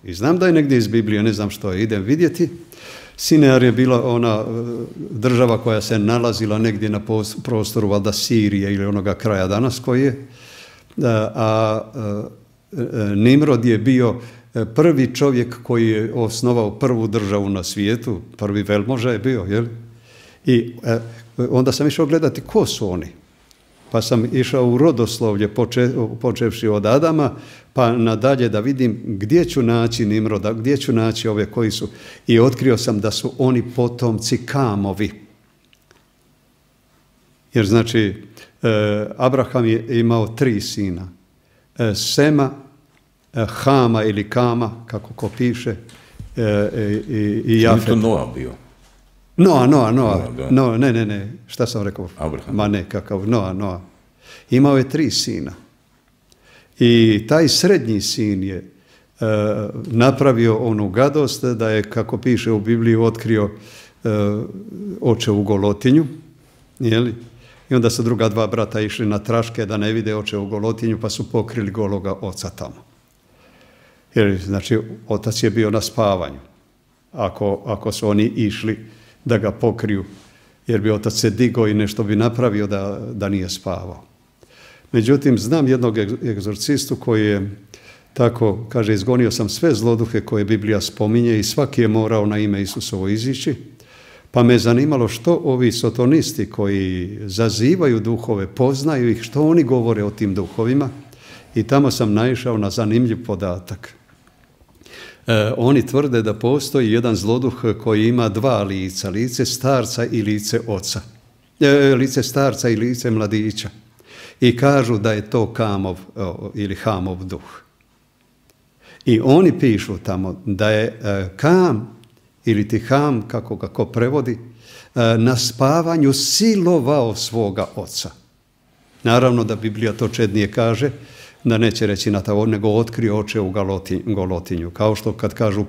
i znam da je negdje iz Biblije, ne znam što je, idem vidjeti. Sinear je bila ona država koja se nalazila negdje na prostoru valjda Sirije ili onoga kraja danas koji je, a Nimrod je bio prvi čovjek koji je osnovao prvu državu na svijetu, prvi velmoža je bio, jel? I onda sam išao gledati ko su oni. Pa sam išao u rodoslovlje počevši od Adama pa nadalje da vidim gdje ću naći Nimroda, gdje ću naći ove koji su. I otkrio sam da su oni potomci Kamovi. Jer znači Abraham je imao 3 sina. Sema, Hama ili Kama, kako ko piše, i Jafet. Što je to Noa bio? Noa, ne, šta sam rekao? Abraham. Ma ne, kakav, Noa. Imao je 3 sina. I taj srednji sin je napravio onu gadost da je, kako piše u Bibliji, otkrio očevu golotinju, jeli? I onda su druga 2 brata išli na traške da ne vide očevu golotinju, pa su pokrili gologa oca tamo. Jer, znači, otac je bio na spavanju, ako su oni išli da ga pokriju, jer bi otac se digao i nešto bi napravio da nije spavao. Međutim, znam jednog egzorcistu koji je tako, kaže, izgonio sam sve zloduhe koje Biblija spominje i svaki je morao na ime Isusovo izići, pa me zanimalo što ovi sotonisti koji zazivaju duhove, poznaju ih, što oni govore o tim duhovima i tamo sam naišao na zanimljiv podatak. Oni tvrde da postoji jedan zloduh koji ima 2 lica, lice starca i lice oca, lice starca i lice mladića. I kažu da je to Kamov ili Hamov duh. I oni pišu tamo da je Kam ili ti Ham, kako ga ko prevodi, na spavanju silovao svoga oca. Naravno da Biblija to čednije kaže, da neće reći na to, nego otkrio oče u golotinju. Kao što kad kažu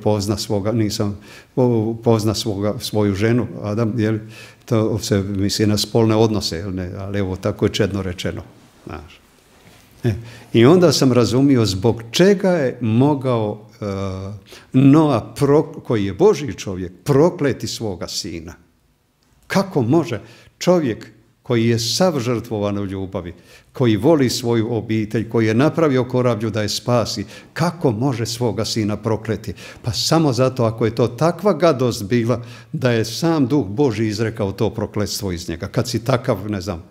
pozna svoju ženu, Adam, jel, to se misli na spolne odnose, jel ne, ali evo tako je čedno rečeno. Znaš. I onda sam razumio zbog čega je mogao Noa, koji je Božji čovjek, prokleti svoga sina. Kako može čovjek koji je sav žrtvovan u ljubavi, koji voli svoju obitelj, koji je napravio korablju da je spasi, kako može svoga sina prokleti? Pa samo zato ako je to takva gadost bila da je sam Duh Božji izrekao to prokletstvo iz njega. Kad si takav, ne znam,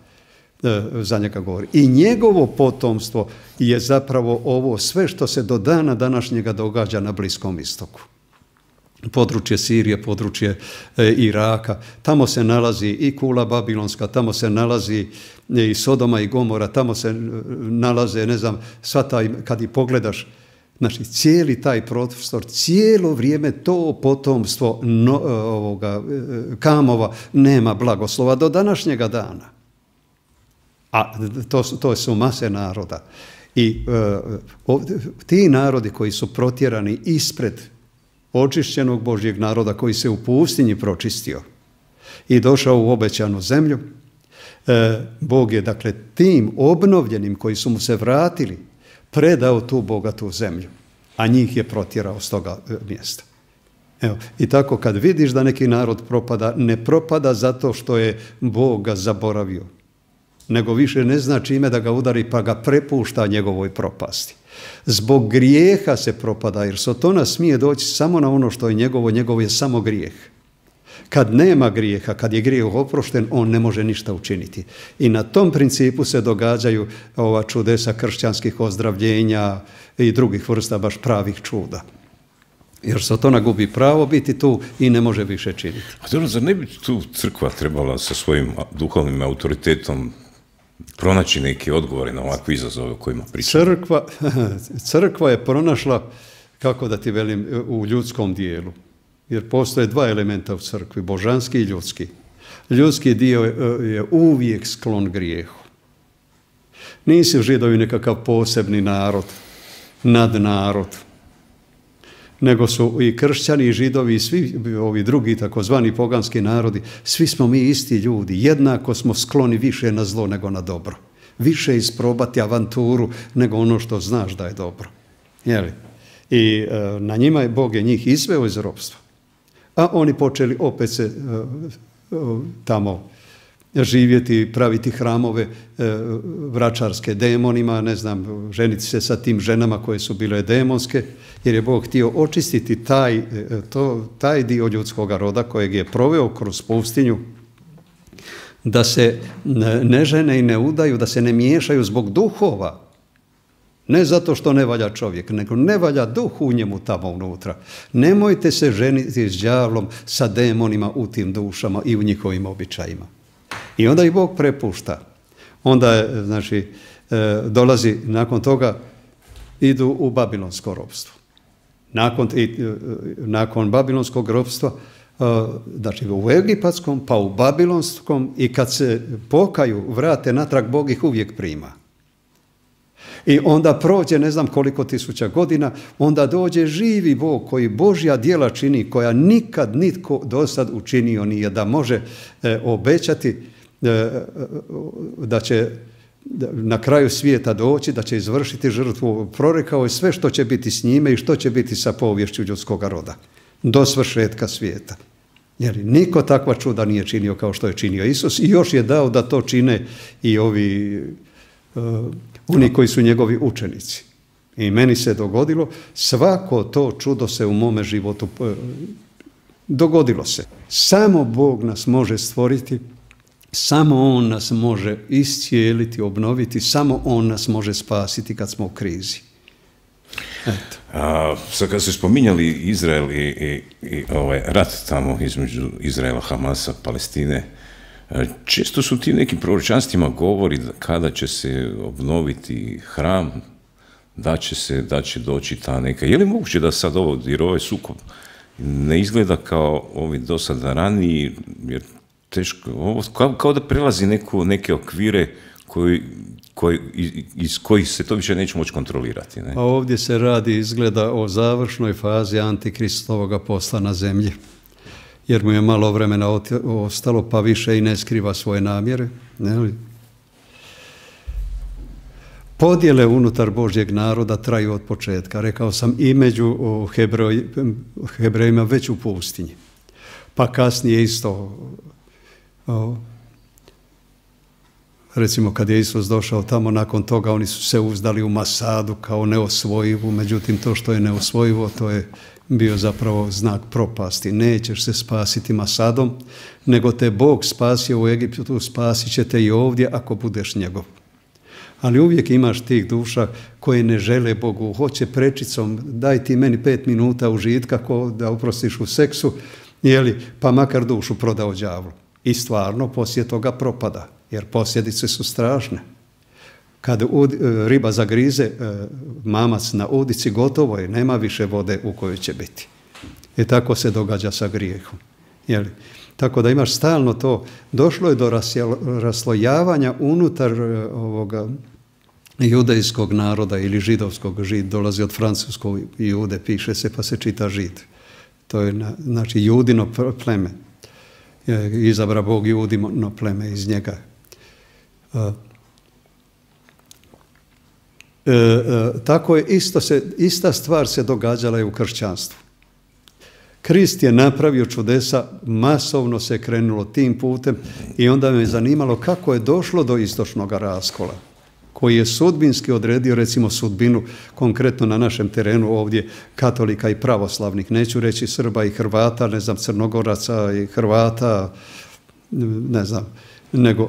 za njega govori. I njegovo potomstvo je zapravo ovo sve što se do dana današnjega događa na Bliskom istoku. Područje Sirije, područje Iraka, tamo se nalazi i kula babilonska, tamo se nalazi i Sodoma i Gomora, tamo se nalaze, ne znam, sva taj, kad i pogledaš, znači cijeli taj prostor, cijelo vrijeme to potomstvo Kamova nema blagoslova do današnjega dana. A to su mase naroda. I ti narodi koji su protjerani ispred očišćenog Božjeg naroda koji se u pustinji pročistio i došao u obećanu zemlju, Bog je dakle tim obnovljenim koji su mu se vratili predao tu bogatu zemlju, a njih je protjerao s toga mjesta. Evo, i tako kad vidiš da neki narod propada, ne propada zato što je Bog ga zaboravio, nego više ne zna čime da ga udari pa ga prepušta njegovoj propasti. Zbog grijeha se propada, jer Sotona smije doći samo na ono što je njegovo je samo grijeh. Kad nema grijeha, kad je grijeh oprošten, on ne može ništa učiniti. I na tom principu se događaju ova čudesa kršćanskih ozdravljenja i drugih vrsta baš pravih čuda. Jer Sotona gubi pravo biti tu i ne može više činiti. A dobro, zar ne bi tu crkva trebala sa svojim duhovnim autoritetom pronaći neke odgovore na ovakve izazove o kojima pričamo? Crkva je pronašla, kako da ti velim, u ljudskom dijelu. Jer postoje dva elementa u crkvi, božanski i ljudski. Ljudski dio je uvijek sklon grijehu. Nisu Židovi nekakav posebni narod, nadnarod, nego su i kršćani i Židovi i svi ovi drugi takozvani poganski narodi, svi smo mi isti ljudi, jednako smo skloni više na zlo nego na dobro. Više isprobati avanturu nego ono što znaš da je dobro. Jeli? I na njima je Bog njih izveo iz ropstva. A oni počeli opet se tamo živjeti, praviti hramove vračarske demonima, ne znam, ženiti se sa tim ženama koje su bile demonske, jer je Bog htio očistiti taj dio ljudskog roda kojeg je proveo kroz pustinju, da se ne žene i ne udaju, da se ne miješaju zbog duhova. Ne zato što ne valja čovjek, nego ne valja duh u njemu tamo unutra. Nemojte se ženiti s đavlom, sa demonima u tim dušama i u njihovim običajima. I onda ih Bog prepušta. Onda, znači, dolazi nakon toga, idu u babilonsko ropstvo. Nakon babilonskog ropstva, znači u egipatskom, pa u babilonskom, i kad se pokaju, vrate natrag, Bog ih uvijek prima. I onda prođe ne znam koliko tisuća godina, onda dođe živi Bog koji Božja djela čini, koja nikad nitko do sad učinio nije, da može obećati da će na kraju svijeta doći, da će izvršiti žrtvu. Prorekao je sve što će biti s njime i što će biti sa poviješću ljudskog roda do svršetka svijeta. Jer niko takva čuda nije činio kao što je činio Isus, i još je dao da to čine i oni koji su njegovi učenici. I meni se dogodilo, svako to čudo se u mome životu dogodilo se. Samo Bog nas može stvoriti, samo On nas može iscijeliti, obnoviti, samo On nas može spasiti kad smo u krizi. Eto. Sad kad ste spominjali Izrael i ovaj rat tamo između Izraela, Hamasa, Palestine, često su ti nekim proročanstvima govori kada će se obnoviti hram, da će doći ta neka. Je li moguće da sad jer ovaj sukob ne izgleda kao ovi do sada raniji, jer teško, ovo kao da prelazi neke okvire iz kojih se to više neće moći kontrolirati. Ne? A ovdje se radi, izgleda, o završnoj fazi antikristovoga posla na zemlji, jer mu je malo vremena ostalo, pa više i ne skriva svoje namjere. Ne? Podjele unutar Božjeg naroda traju od početka. Rekao sam, i među Hebrejima već u pustinji. Pa kasnije isto, recimo kad je Isus došao tamo, nakon toga oni su se uzdali u Masadu kao neosvojivu, međutim to što je neosvojivo, to je bio zapravo znak propasti. Nećeš se spasiti Masadom, nego te Bog spasio u Egiptu, spasit će te i ovdje ako budeš njegov. Ali uvijek imaš tih duša koje ne žele Bogu, hoće prečicom, daj ti meni 5 minuta užitka ko da oprostiš u seksu, pa makar dušu prodao đavlu. I stvarno poslije toga propada, jer posljedice su strašne. Kad riba zagrize mamac na udici, gotovo je, nema više vode u kojoj će biti. I tako se događa sa grijehom. Tako da imaš stalno to. Došlo je do raslojavanja unutar ovoga judejskog naroda ili židovskog. Žid dolazi od francuskog jude, piše se pa se čita žid. To je znači judino pleme. Izabra Bog judino pleme iz njega. Tako je ista stvar se događala i u kršćanstvu. Krist je napravio čudesa, masovno se krenulo tim putem i onda me zanimalo kako je došlo do istočnog raskola, koji je sudbinski odredio recimo sudbinu konkretno na našem terenu ovdje katolika i pravoslavnih, neću reći Srba i Hrvata, ne znam, Crnogoraca i Hrvata, ne znam,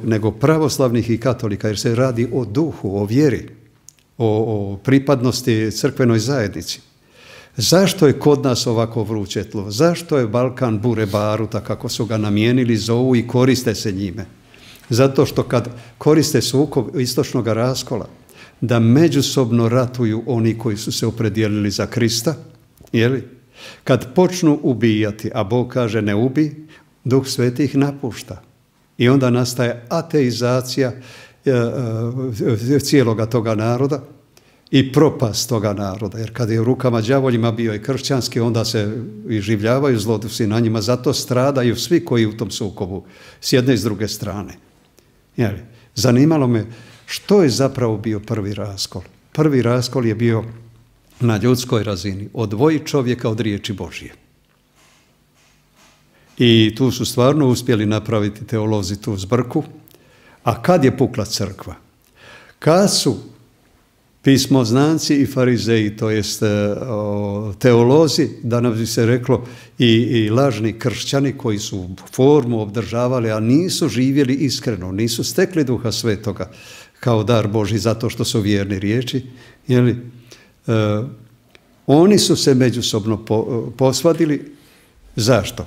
nego pravoslavnih i katolika, jer se radi o duhu, o vjeri, o pripadnosti crkvenoj zajednici. Zašto je kod nas ovako vruće tlo? Zašto je Balkan bure baruta, kako su ga namijenili, zovu i koriste se njime? Zato što kad koriste sukob istočnog raskola, da međusobno ratuju oni koji su se opredijelili za Krista, jeli? Kad počnu ubijati, a Bog kaže ne ubij, Duh Sveti ih napušta. I onda nastaje ateizacija cijeloga toga naroda i propast toga naroda. Jer kad je u rukama đavoljima bio i kršćanski, onda se iživljavaju zlodusi na njima. Zato stradaju svi koji u tom sukobu, s jedne i s druge strane. Jeli? Zanimalo me što je zapravo bio prvi raskol. Prvi raskol je bio na ljudskoj razini. Odvoji čovjeka od riječi Božje. I tu su stvarno uspjeli napraviti teolozi tu zbrku. A kad je pukla crkva? Kad su pismoznanci i farizeji, to jest teolozi, da nam bi se reklo i lažni kršćani koji su formu obdržavali, a nisu živjeli iskreno, nisu stekli Duha Svetoga kao dar Božji zato što su vjerni riječi, jeli? Oni su se međusobno posvadili. Zašto?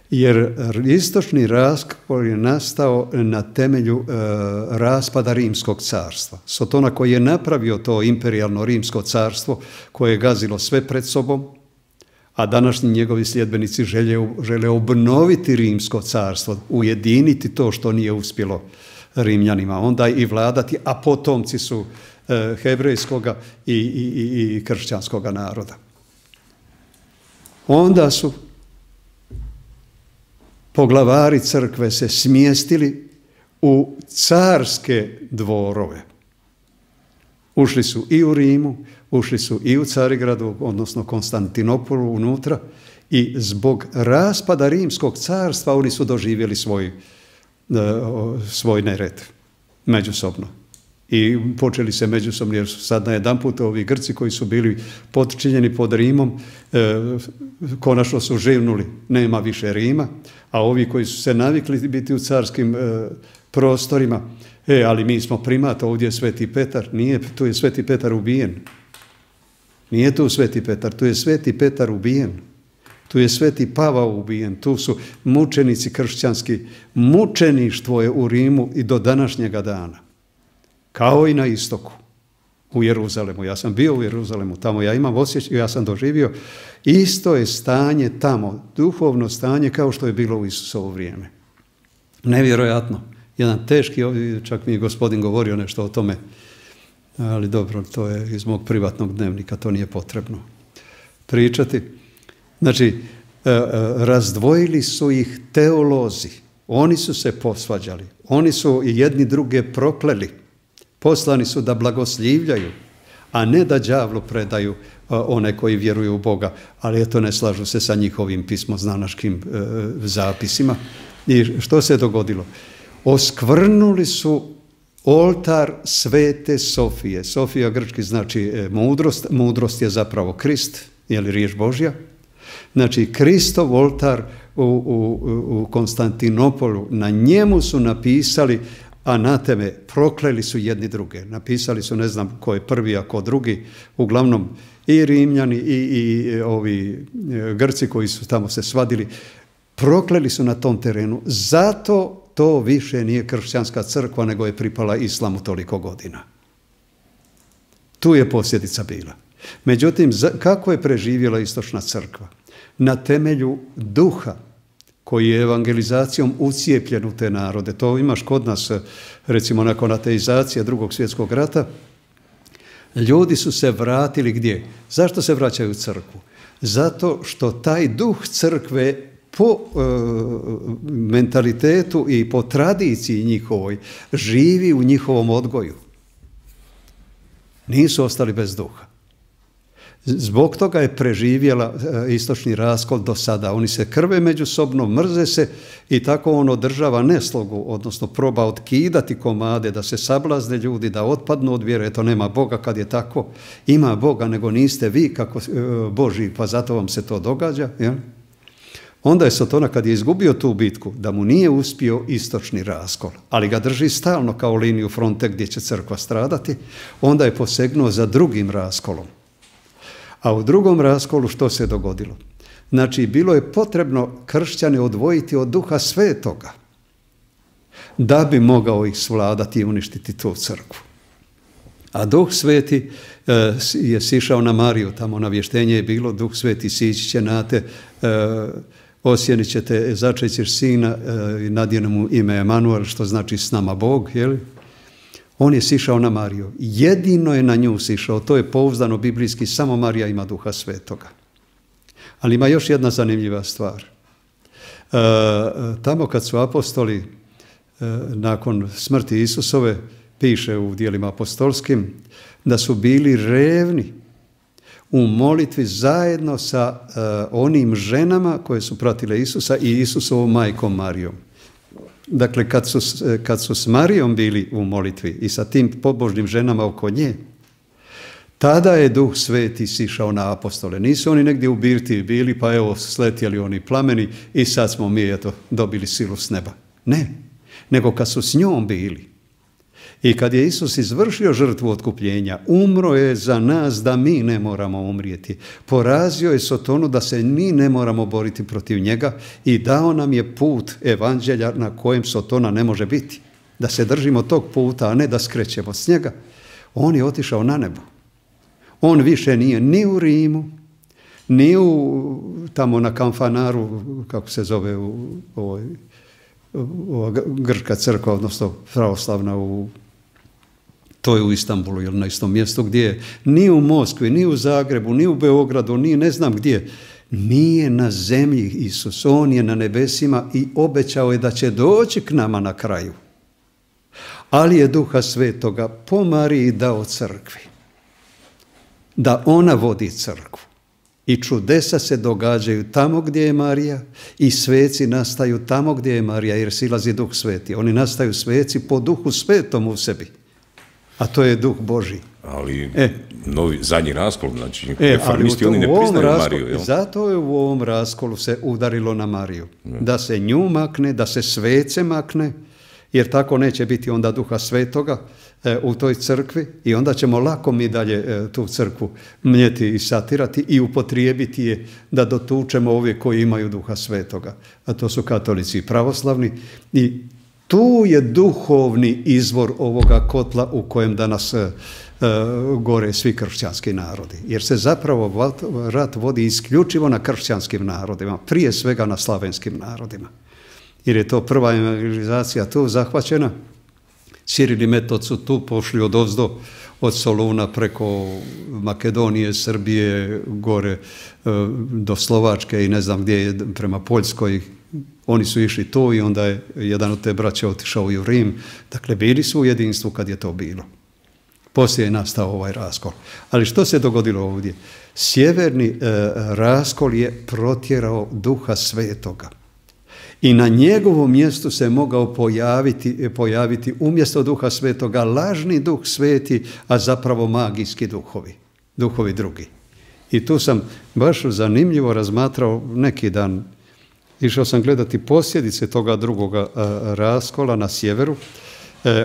Jer istočni raskol je nastao na temelju raspada Rimskog carstva. Sotona koji je napravio to imperijalno Rimsko carstvo koje je gazilo sve pred sobom, a današnji njegovi sljedbenici žele obnoviti Rimsko carstvo, ujediniti to što nije uspjelo Rimljanima, onda i vladati, a potomci su hebrejskoga i kršćanskoga naroda. Onda su poglavari crkve se smjestili u carske dvorove. Ušli su i u Rimu, ušli su i u Carigradu, odnosno Konstantinopolu unutra, i zbog raspada Rimskog carstva oni su doživjeli svoj nered međusobno. I počeli se međusobno, jer su sad najedanput ovi Grci koji su bili potčinjeni pod Rimom, konačno su živnuli, nema više Rima, a ovi koji su se navikli biti u carskim prostorima, ali mi smo primat, ovdje je Sveti Petar, nije, tu je Sveti Petar ubijen. Nije tu Sveti Petar, tu je Sveti Petar ubijen. Tu je Sveti Pavao ubijen, tu su mučenici kršćanski. Mučeništvo je u Rimu i do današnjega dana. Kao i na istoku, u Jeruzalemu. Ja sam bio u Jeruzalemu, tamo ja imam osjećaj, ja sam doživio. Isto je stanje tamo, duhovno stanje kao što je bilo u Isusovo vrijeme. Nevjerojatno. Jedan teški, ovdje čak mi je gospodin govorio nešto o tome, ali dobro, to je iz mog privatnog dnevnika, to nije potrebno pričati. Znači, razdvojili su ih teolozi, oni su se posvađali, oni su i jedni druge prokleli. Poslani su da blagoslivljaju, a ne da đavlu predaju one koji vjeruju u Boga, ali eto ne slažu se sa njihovim pismoznanaškim zapisima. I što se dogodilo? Oskvrnuli su oltar Svete Sofije. Sofija grčki znači mudrost, mudrost je zapravo Krist, je li riječ Božja? Znači Kristov oltar u Konstantinopolu, na njemu su napisali anateme, prokleli su jedni druge. Napisali su, ne znam ko je prvi, a ko drugi, uglavnom i Rimljani i ovi Grci koji su tamo se svadili, prokleli su na tom terenu. Zato to više nije kršćanska crkva, nego je pripala islamu toliko godina. Tu je posljedica bila. Međutim, kako je preživjela istočna crkva? Na temelju duha koji je evangelizacijom ucijepljen u te narode. To imaš kod nas, recimo nakon ateizacije Drugog svjetskog rata. Ljudi su se vratili gdje? Zašto se vraćaju u crkvu? Zato što taj duh crkve po mentalitetu i po tradiciji njihovoj živi u njihovom odgoju. Nisu ostali bez duha. Zbog toga je preživjela istočni raskol do sada. Oni se krve međusobno, mrze se i tako on održava neslogu, odnosno proba otkidati komade, da se sablazne ljudi, da otpadnu od vjere. Eto, nema Boga kad je tako. Ima Boga, nego niste vi kako Božji, pa zato vam se to događa. Ja? Onda je Sotona, kad je izgubio tu bitku, da mu nije uspio istočni raskol, ali ga drži stalno kao liniju fronte gdje će crkva stradati, onda je posegnuo za drugim raskolom. A u drugom raskolu što se dogodilo? Znači, bilo je potrebno kršćane odvojiti od Duha Svetoga da bi mogao ih svladati i uništiti tu crkvu. A Duh Sveti je sišao na Mariju, tamo navještenje je bilo, Duh Sveti sići će na te, osjenit ćete, začet ćeš sina i nadjene mu ime Emanuel, što znači s nama Bog, jel? On je sišao na Mariju. Jedino je na nju sišao, to je pouzdano biblijski, samo Marija ima Duha Svetoga. Ali ima još jedna zanimljiva stvar. Tamo kad su apostoli nakon smrti Isusove, piše u djelima apostolskim, da su bili revni u molitvi zajedno sa onim ženama koje su pratile Isusa i Isusovom majkom Marijom. Dakle, kad su s Marijom bili u molitvi i sa tim pobožnim ženama oko nje, tada je Duh Sveti sišao na apostole. Nisu oni negdje u birtiji bili, pa evo sletjeli oni plameni i sad smo mi eto dobili silu s neba. Ne, nego kad su s njom bili. I kad je Isus izvršio žrtvu otkupljenja, umro je za nas da mi ne moramo umrijeti. Porazio je Sotonu da se mi ne moramo boriti protiv njega i dao nam je put evanđelja na kojem Sotona ne može biti. Da se držimo tog puta, a ne da skrećemo s njega. On je otišao na nebo. On više nije ni u Rimu, ni tamo na Kamfanaru, kako se zove grčka crkva, odnosno pravoslavna to je u Istanbulu ili na istom mjestu gdje je, ni u Moskvi, ni u Zagrebu, ni u Beogradu, ni ne znam gdje. Nije na zemlji Isus, on je na nebesima i obećao je da će doći k nama na kraju. Ali je Duha Svetoga po Mariji dao crkvi, da ona vodi crkvu. I čudesa se događaju tamo gdje je Marija i sveci nastaju tamo gdje je Marija, jer silazi Duh Sveti. Oni nastaju sveci po Duhu Svetom u sebi, a to je Duh Božji. Ali zadnji raskol, znači reformisti, oni ne priznaju Mariju. Jel? Zato je u ovom raskolu se udarilo na Mariju. Da se nju makne, da se svece makne, jer tako neće biti onda Duha Svetoga u toj crkvi i onda ćemo lako mi dalje tu crkvu mljeti i satirati i upotrijebiti je da dotučemo ove koji imaju Duha Svetoga. A to su katolici i pravoslavni. I tu je duhovni izvor ovoga kotla u kojem danas gore svi kršćanski narodi. Jer se zapravo rat vodi isključivo na kršćanskim narodima, prije svega na slavenskim narodima. Jer je to prva evangelizacija tu zahvaćena. Ciril i Metod su tu pošli odozdo, od Soluna preko Makedonije, Srbije, gore do Slovačke i ne znam gdje je, prema Poljskoj. Oni su išli tu i onda je jedan od te braće otišao i u Rim. Dakle, bili su u jedinstvu kad je to bilo. Poslije je nastao ovaj raskol. Ali što se dogodilo ovdje? Sjeverni raskol je protjerao Duha Svetoga. I na njegovom mjestu se mogao pojaviti umjesto Duha Svetoga lažni Duh Sveti, a zapravo magijski duhovi drugi. I tu sam baš zanimljivo razmatrao neki dan. Išao sam gledati posljedice toga drugoga raskola na sjeveru.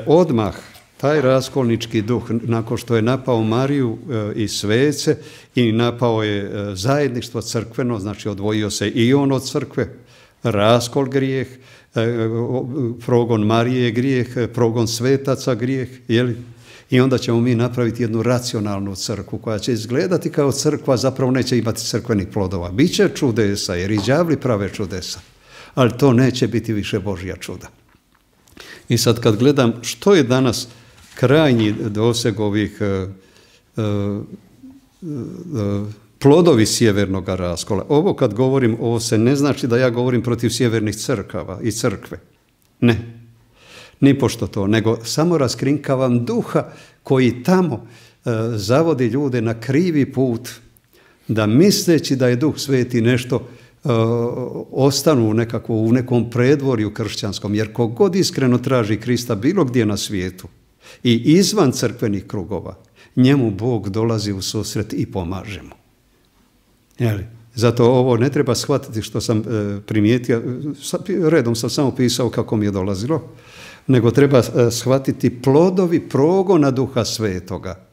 Odmah taj raskolnički duh, nakon što je napao Mariju i svece i napao je zajedništvo crkveno, znači odvojio se i on od crkve, raskol grijeh, progon Marije grijeh, progon svetaca grijeh, jeli? I onda ćemo mi napraviti jednu racionalnu crkvu koja će izgledati kao crkva, zapravo neće imati crkvenih plodova. Biće čudesa jer i đavli prave čudesa, ali to neće biti više Božja čuda. I sad kad gledam što je danas krajnji doseg ovih plodovi sjevernog raskola. Ovo kad govorim, ovo se ne znači da ja govorim protiv sjevernih crkava i crkve. Ne, nipošto to, nego samo raskrinkavam duha koji tamo zavodi ljude na krivi put da misleći da je Duh Sveti nešto ostanu u nekom predvorju kršćanskom, jer kogod iskreno traži Krista bilo gdje na svijetu i izvan crkvenih krugova, njemu Bog dolazi u susret i pomaže mu. Zato ovo ne treba shvatiti što sam primijetio, redom sam samo pisao kako mi je dolazilo, nego treba shvatiti plodovi progona Duha Svetoga,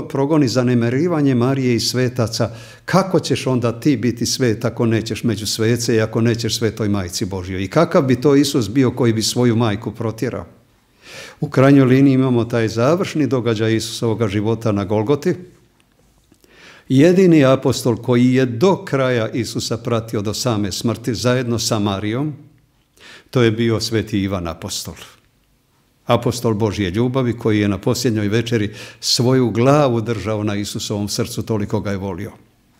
progoni zanemarivanje Marije i svetaca. Kako ćeš onda ti biti svet ako nećeš među svece i ako nećeš Svetoj Majci Božjoj? I kakav bi to Isus bio koji bi svoju majku protjerao? U krajnjoj liniji imamo taj završni događaj Isusovoga života na Golgoti. Jedini apostol koji je do kraja Isusa pratio do same smrti zajedno sa Marijom, to je bio Sveti Ivan apostol. Apostol Božje ljubavi koji je na posljednjoj večeri svoju glavu držao na Isusovom srcu, toliko ga je volio.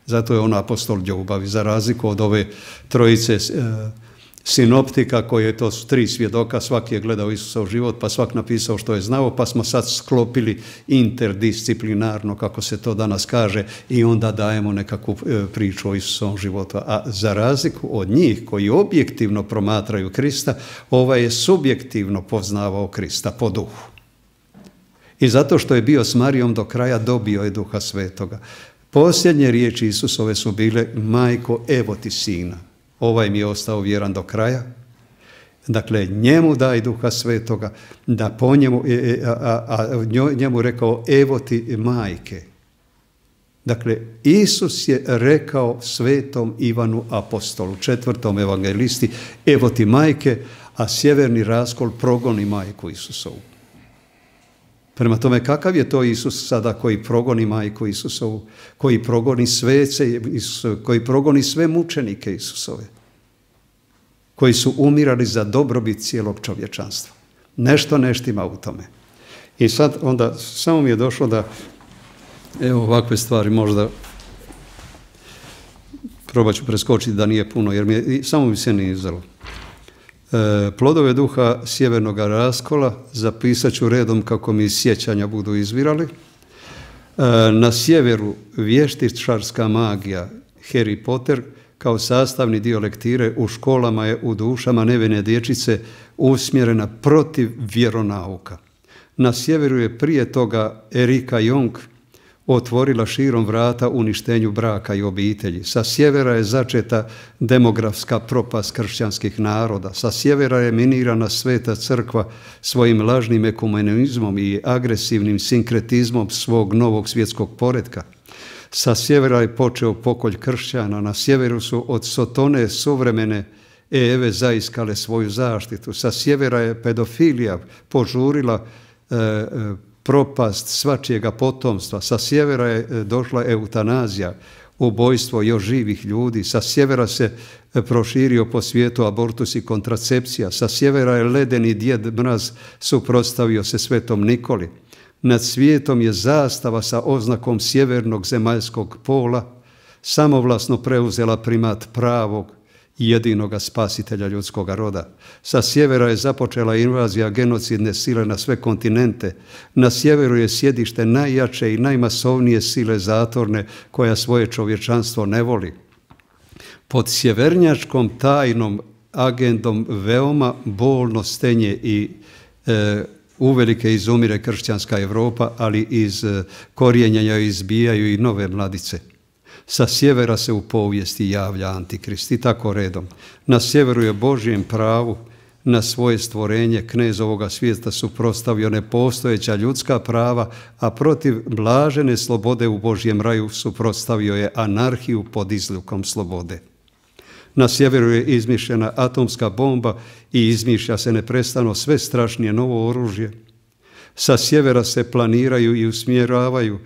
Zato je on apostol ljubavi, za razliku od ove trojice sinoptika koje to su 3 svjedoka, svaki je gledao Isusov život pa svak napisao što je znao, pa smo sad sklopili interdisciplinarno, kako se to danas kaže, i onda dajemo nekakvu priču o Isusovom životu. A za razliku od njih koji objektivno promatraju Krista, ovaj je subjektivno poznavao Krista po duhu. I zato što je bio s Marijom do kraja, dobio je Duha Svetoga. Posljednje riječi Isusove su bile: majko, evo ti sina. Ovaj mi je ostao vjeran do kraja. Dakle, njemu daj Duha Svetoga, da po njemu, njemu rekao: evo ti majke. Dakle, Isus je rekao Svetom Ivanu apostolu, 4. evangelisti: evo ti majke, a sjeverni raskol progoni majku Isusovu. Prema tome, kakav je to Isus sada koji progoni majku Isusovu, koji progoni svece Isusove, koji progoni sve mučenike Isusove, koji su umirali za dobrobit cijelog čovječanstva? Nešto ne štima u tome. I sad onda samo mi je došlo da, evo, ovakve stvari možda probat ću preskočiti da nije puno, jer samo mi se nije izdalo. Plodove duha sjevernog raskola zapisat ću redom kako mi iz sjećanja budu izvirali. Na sjeveru vještičarska magija, Harry Potter, kao sastavni dio lektire u školama je u dušama nevine dječice usmjerena protiv vjeronauka. Na sjeveru je prije toga Erika Jong otvorila širom vrata uništenju braka i obitelji. Sa sjevera je začeta demografska propast kršćanskih naroda. Sa sjevera je minirana Sveta crkva svojim lažnim ekumenizmom i agresivnim sinkretizmom svog novog svjetskog poretka. Sa sjevera je počeo pokolj kršćana. Na sjeveru su od Sotone suvremene Eve zaiskale svoju zaštitu. Sa sjevera je pedofilija požurila propast svačijega potomstva. Sa sjevera je došla eutanazija, ubojstvo još živih ljudi. Sa sjevera se proširio po svijetu abortus i kontracepcija. Sa sjevera je ledeni djed mraz suprotstavio se Svetom Nikoli. Nad svijetom je zastava sa oznakom sjevernog zemaljskog pola samovlasno preuzela primat pravog i jedinoga spasitelja ljudskoga roda. Sa sjevera je započela invazija genocidne sile na sve kontinente. Na sjeveru je sjedište najjače i najmasovnije sile zatorne koja svoje čovječanstvo ne voli. Pod sjevernjačkom tajnom agendom veoma bolno stenje i uvelike izumire kršćanska Europa, ali iz korijenja izbijaju i nove mladice. Sa sjevera se u povijesti javlja Antikrist i tako redom. Na sjeveru je Božjem pravu na svoje stvorenje knez ovoga svijeta suprotstavio nepostojeća ljudska prava, a protiv blažene slobode u Božjem raju suprotstavio je anarhiju pod izlikom slobode. Na sjeveru je izmišljena atomska bomba i izmišlja se neprestano sve strašnije novo oružje. Sa sjevera se planiraju i usmjeravaju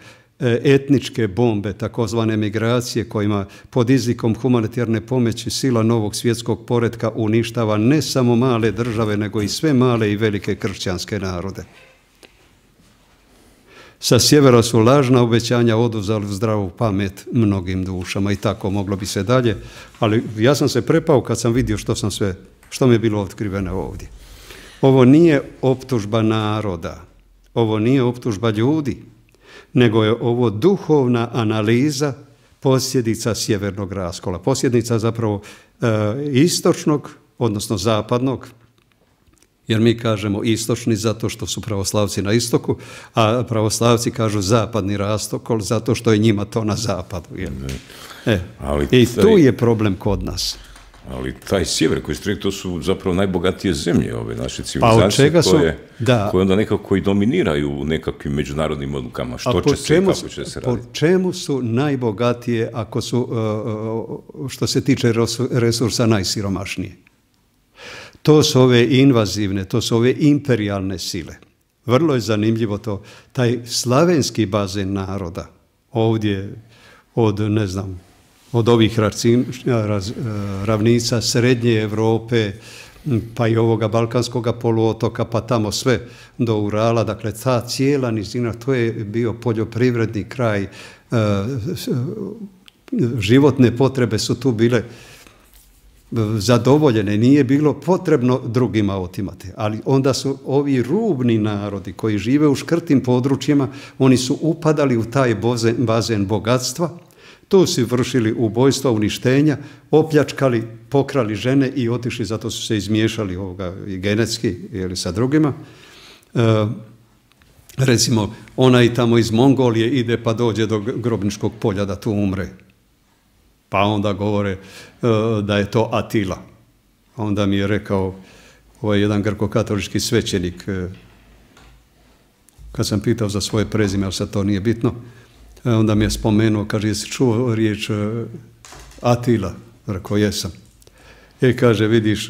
etničke bombe, takozvane migracije, kojima pod izlikom humanitarne pomoći sila novog svjetskog poretka uništava ne samo male države, nego i sve male i velike kršćanske narode. Sa sjevera su lažna obećanja oduzeli zdravu pamet mnogim dušama i tako moglo bi se dalje, ali ja sam se prepao kad sam vidio što mi je bilo otkriveno ovdje. Ovo nije optužba naroda, ovo nije optužba ljudi, nego je ovo duhovna analiza posljedica sjevernog raskola. Posljedica zapravo istočnog, odnosno zapadnog, jer mi kažemo istočni zato što su pravoslavci na istoku, a pravoslavci kažu zapadni raskol zato što je njima to na zapadu. I tu je problem kod nas. Ali taj sjever koji ste rekli, to su zapravo najbogatije zemlje ove naše civilizacije koje onda nekako i dominiraju u nekakvim međunarodnim odlukama. Što će se i kako će se raditi? Po čemu su najbogatije ako su, što se tiče resursa, najsiromašnije? To su ove invazivne, to su ove imperijalne sile. Vrlo je zanimljivo to. Taj slavenski bazen naroda ovdje od, ne znam, od ovih ravnica Srednje Europe, pa i ovoga Balkanskoga poluotoka, pa tamo sve do Urala, dakle ta cijela nizina, to je bio poljoprivredni kraj, životne potrebe su tu bile zadovoljene, nije bilo potrebno drugima otimati. Ali onda su ovi rubni narodi koji žive u škrtim područjima, oni su upadali u taj bazen bogatstva, tu su vršili ubojstva, uništenja, opljačkali, pokrali žene i otišli, zato su se izmiješali i genetski sa drugima. Recimo, onaj tamo iz Mongolije ide pa dođe do Grobničkog polja da tu umre. Pa onda govore da je to Atila. Onda mi je rekao jedan grko-katolički svećenik, kad sam pitao za svoje prezime, ali sad to nije bitno, onda mi je spomenuo, kaže, jesi čuo riječ Atila? Rekao, jesam. Kaže, vidiš,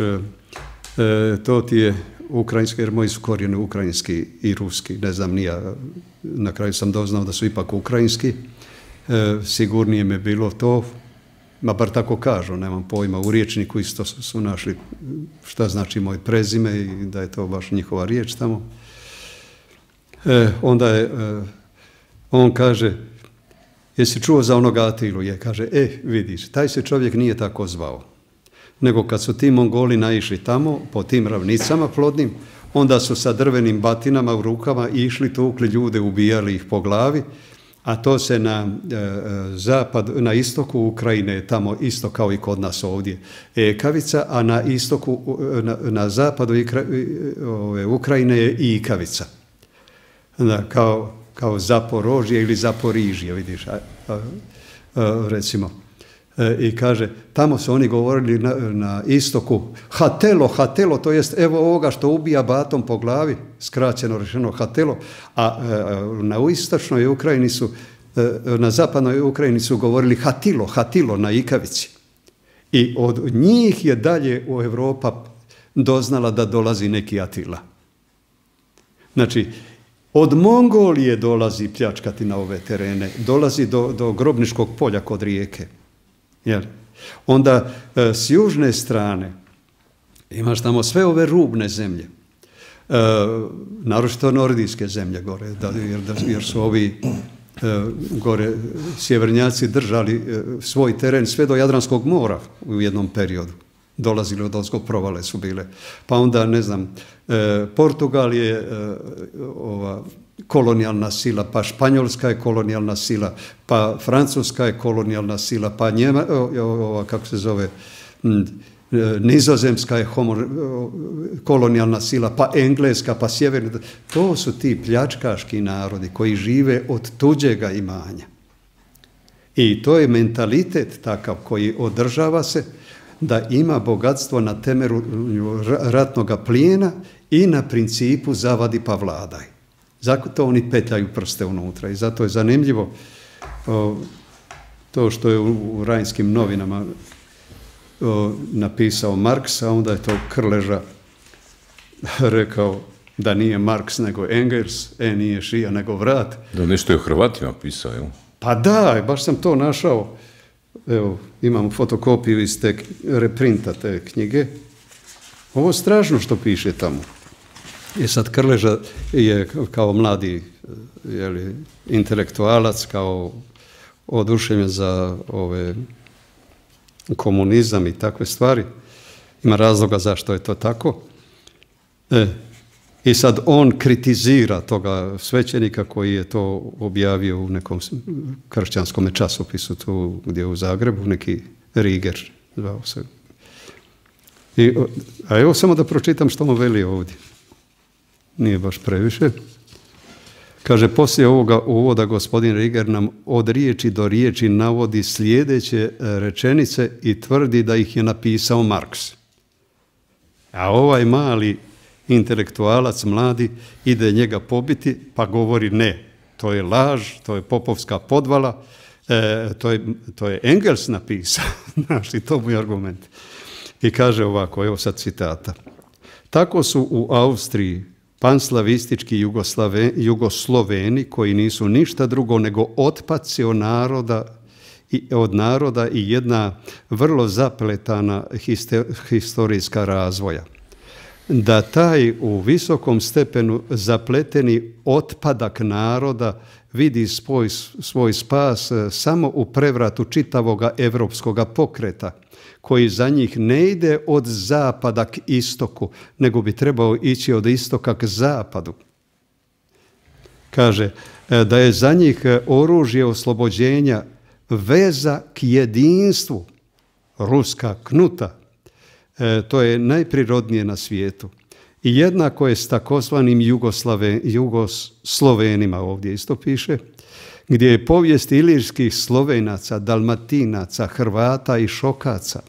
to ti je ukrajinski, jer moji su korijeni ukrajinski i ruski, ne znam, nija, na kraju sam doznao da su ipak ukrajinski, sigurnije me bilo to, ma bar tako kažu, nemam pojma, u riječniku isto su našli šta znači moje prezime i da je to baš njihova riječ tamo. Onda je, on kaže, jesi čuo za onoga Atilu? Je, kaže, vidiš, taj se čovjek nije tako zvao. Nego kad su ti Mongoli naišli tamo, po tim ravnicama plodnim, onda su sa drvenim batinama u rukama išli, tukli ljude, ubijali ih po glavi, a to se na istoku Ukrajine, tamo isto kao i kod nas ovdje, ekavica, a na istoku, na zapadu Ukrajine je ikavica. Kao Zaporožje ili Zaporižje, vidiš, recimo. I kaže, tamo su oni govorili na istoku hatelo, to jest evo ovoga što ubija batom po glavi, skraćeno rečeno hatelo, a na istočnoj Ukrajini su, na zapadnoj Ukrajini su govorili hatilo na ikavici. I od njih je dalje u Europa doznala da dolazi neki Atila. Znači, od Mongolije dolazi pljačkati na ove terene, dolazi do Grobničkog polja kod Rijeke. Onda s južne strane imaš tamo sve ove rubne zemlje, naročito nordijske zemlje gore, jer su ovi gore sjevernjaci držali svoj teren sve do Jadranskog mora u jednom periodu. Dolazili od ozgo, provale su bile. Pa onda, ne znam, Portugal je kolonijalna sila, pa Španjolska je kolonijalna sila, pa Francuska je kolonijalna sila, pa Nizozemska je kolonijalna sila, pa Engleska, pa Sjeverna. To su ti pljačkaški narodi koji žive od tuđega imanja. I to je mentalitet takav koji održava se da ima bogatstvo na temelju ratnoga plijena i na principu zavadi pa vladaj. Zato oni petljaju prste unutra i zato je zanimljivo to što je u Rajnskim novinama napisao Marks, a onda je to Krleža rekao da nije Marks nego Engels, nije šija nego vrat. Da nešto je o Hrvatima pisao, jel? Pa da, baš sam to našao. Evo, imam fotokopiju iz te reprinta te knjige. Ovo je strašno što piše tamo. I sad Krleža je kao mladi intelektualac, kao oduševljen za komunizam i takve stvari. Ima razloga zašto je to tako. I sad on kritizira toga svećenika koji je to objavio u nekom kršćanskom časopisu tu gdje u Zagrebu, neki Riger zvao se. A evo samo da pročitam što mu veli ovdje. Nije baš previše. Kaže, poslije ovoga uvoda gospodin Riger nam od riječi do riječi navodi sljedeće rečenice i tvrdi da ih je napisao Marks. A ovaj mali intelektualac mladi ide njega pobiti pa govori ne, to je laž, to je popovska podvala, to je Engels napisao, znaš, i to mu je argument. I kaže ovako, evo sad citata. Tako su u Austriji panslavistički Jugosloveni koji nisu ništa drugo nego otpaci od naroda i jedna vrlo zapletana historijska razvoja. Da taj u visokom stepenu zapleteni otpadak naroda vidi svoj spas samo u prevratu čitavoga evropskoga pokreta, koji za njih ne ide od zapada k istoku, nego bi trebao ići od istoka k zapadu. Kaže da je za njih oružje oslobođenja veza k jedinstvu, ruska knuta. To je najprirodnije na svijetu. I jednako je s takozvanim Jugoslovenima, ovdje isto piše, gdje je povijest ilirskih Slovenaca, Dalmatinaca, Hrvata i Šokaca.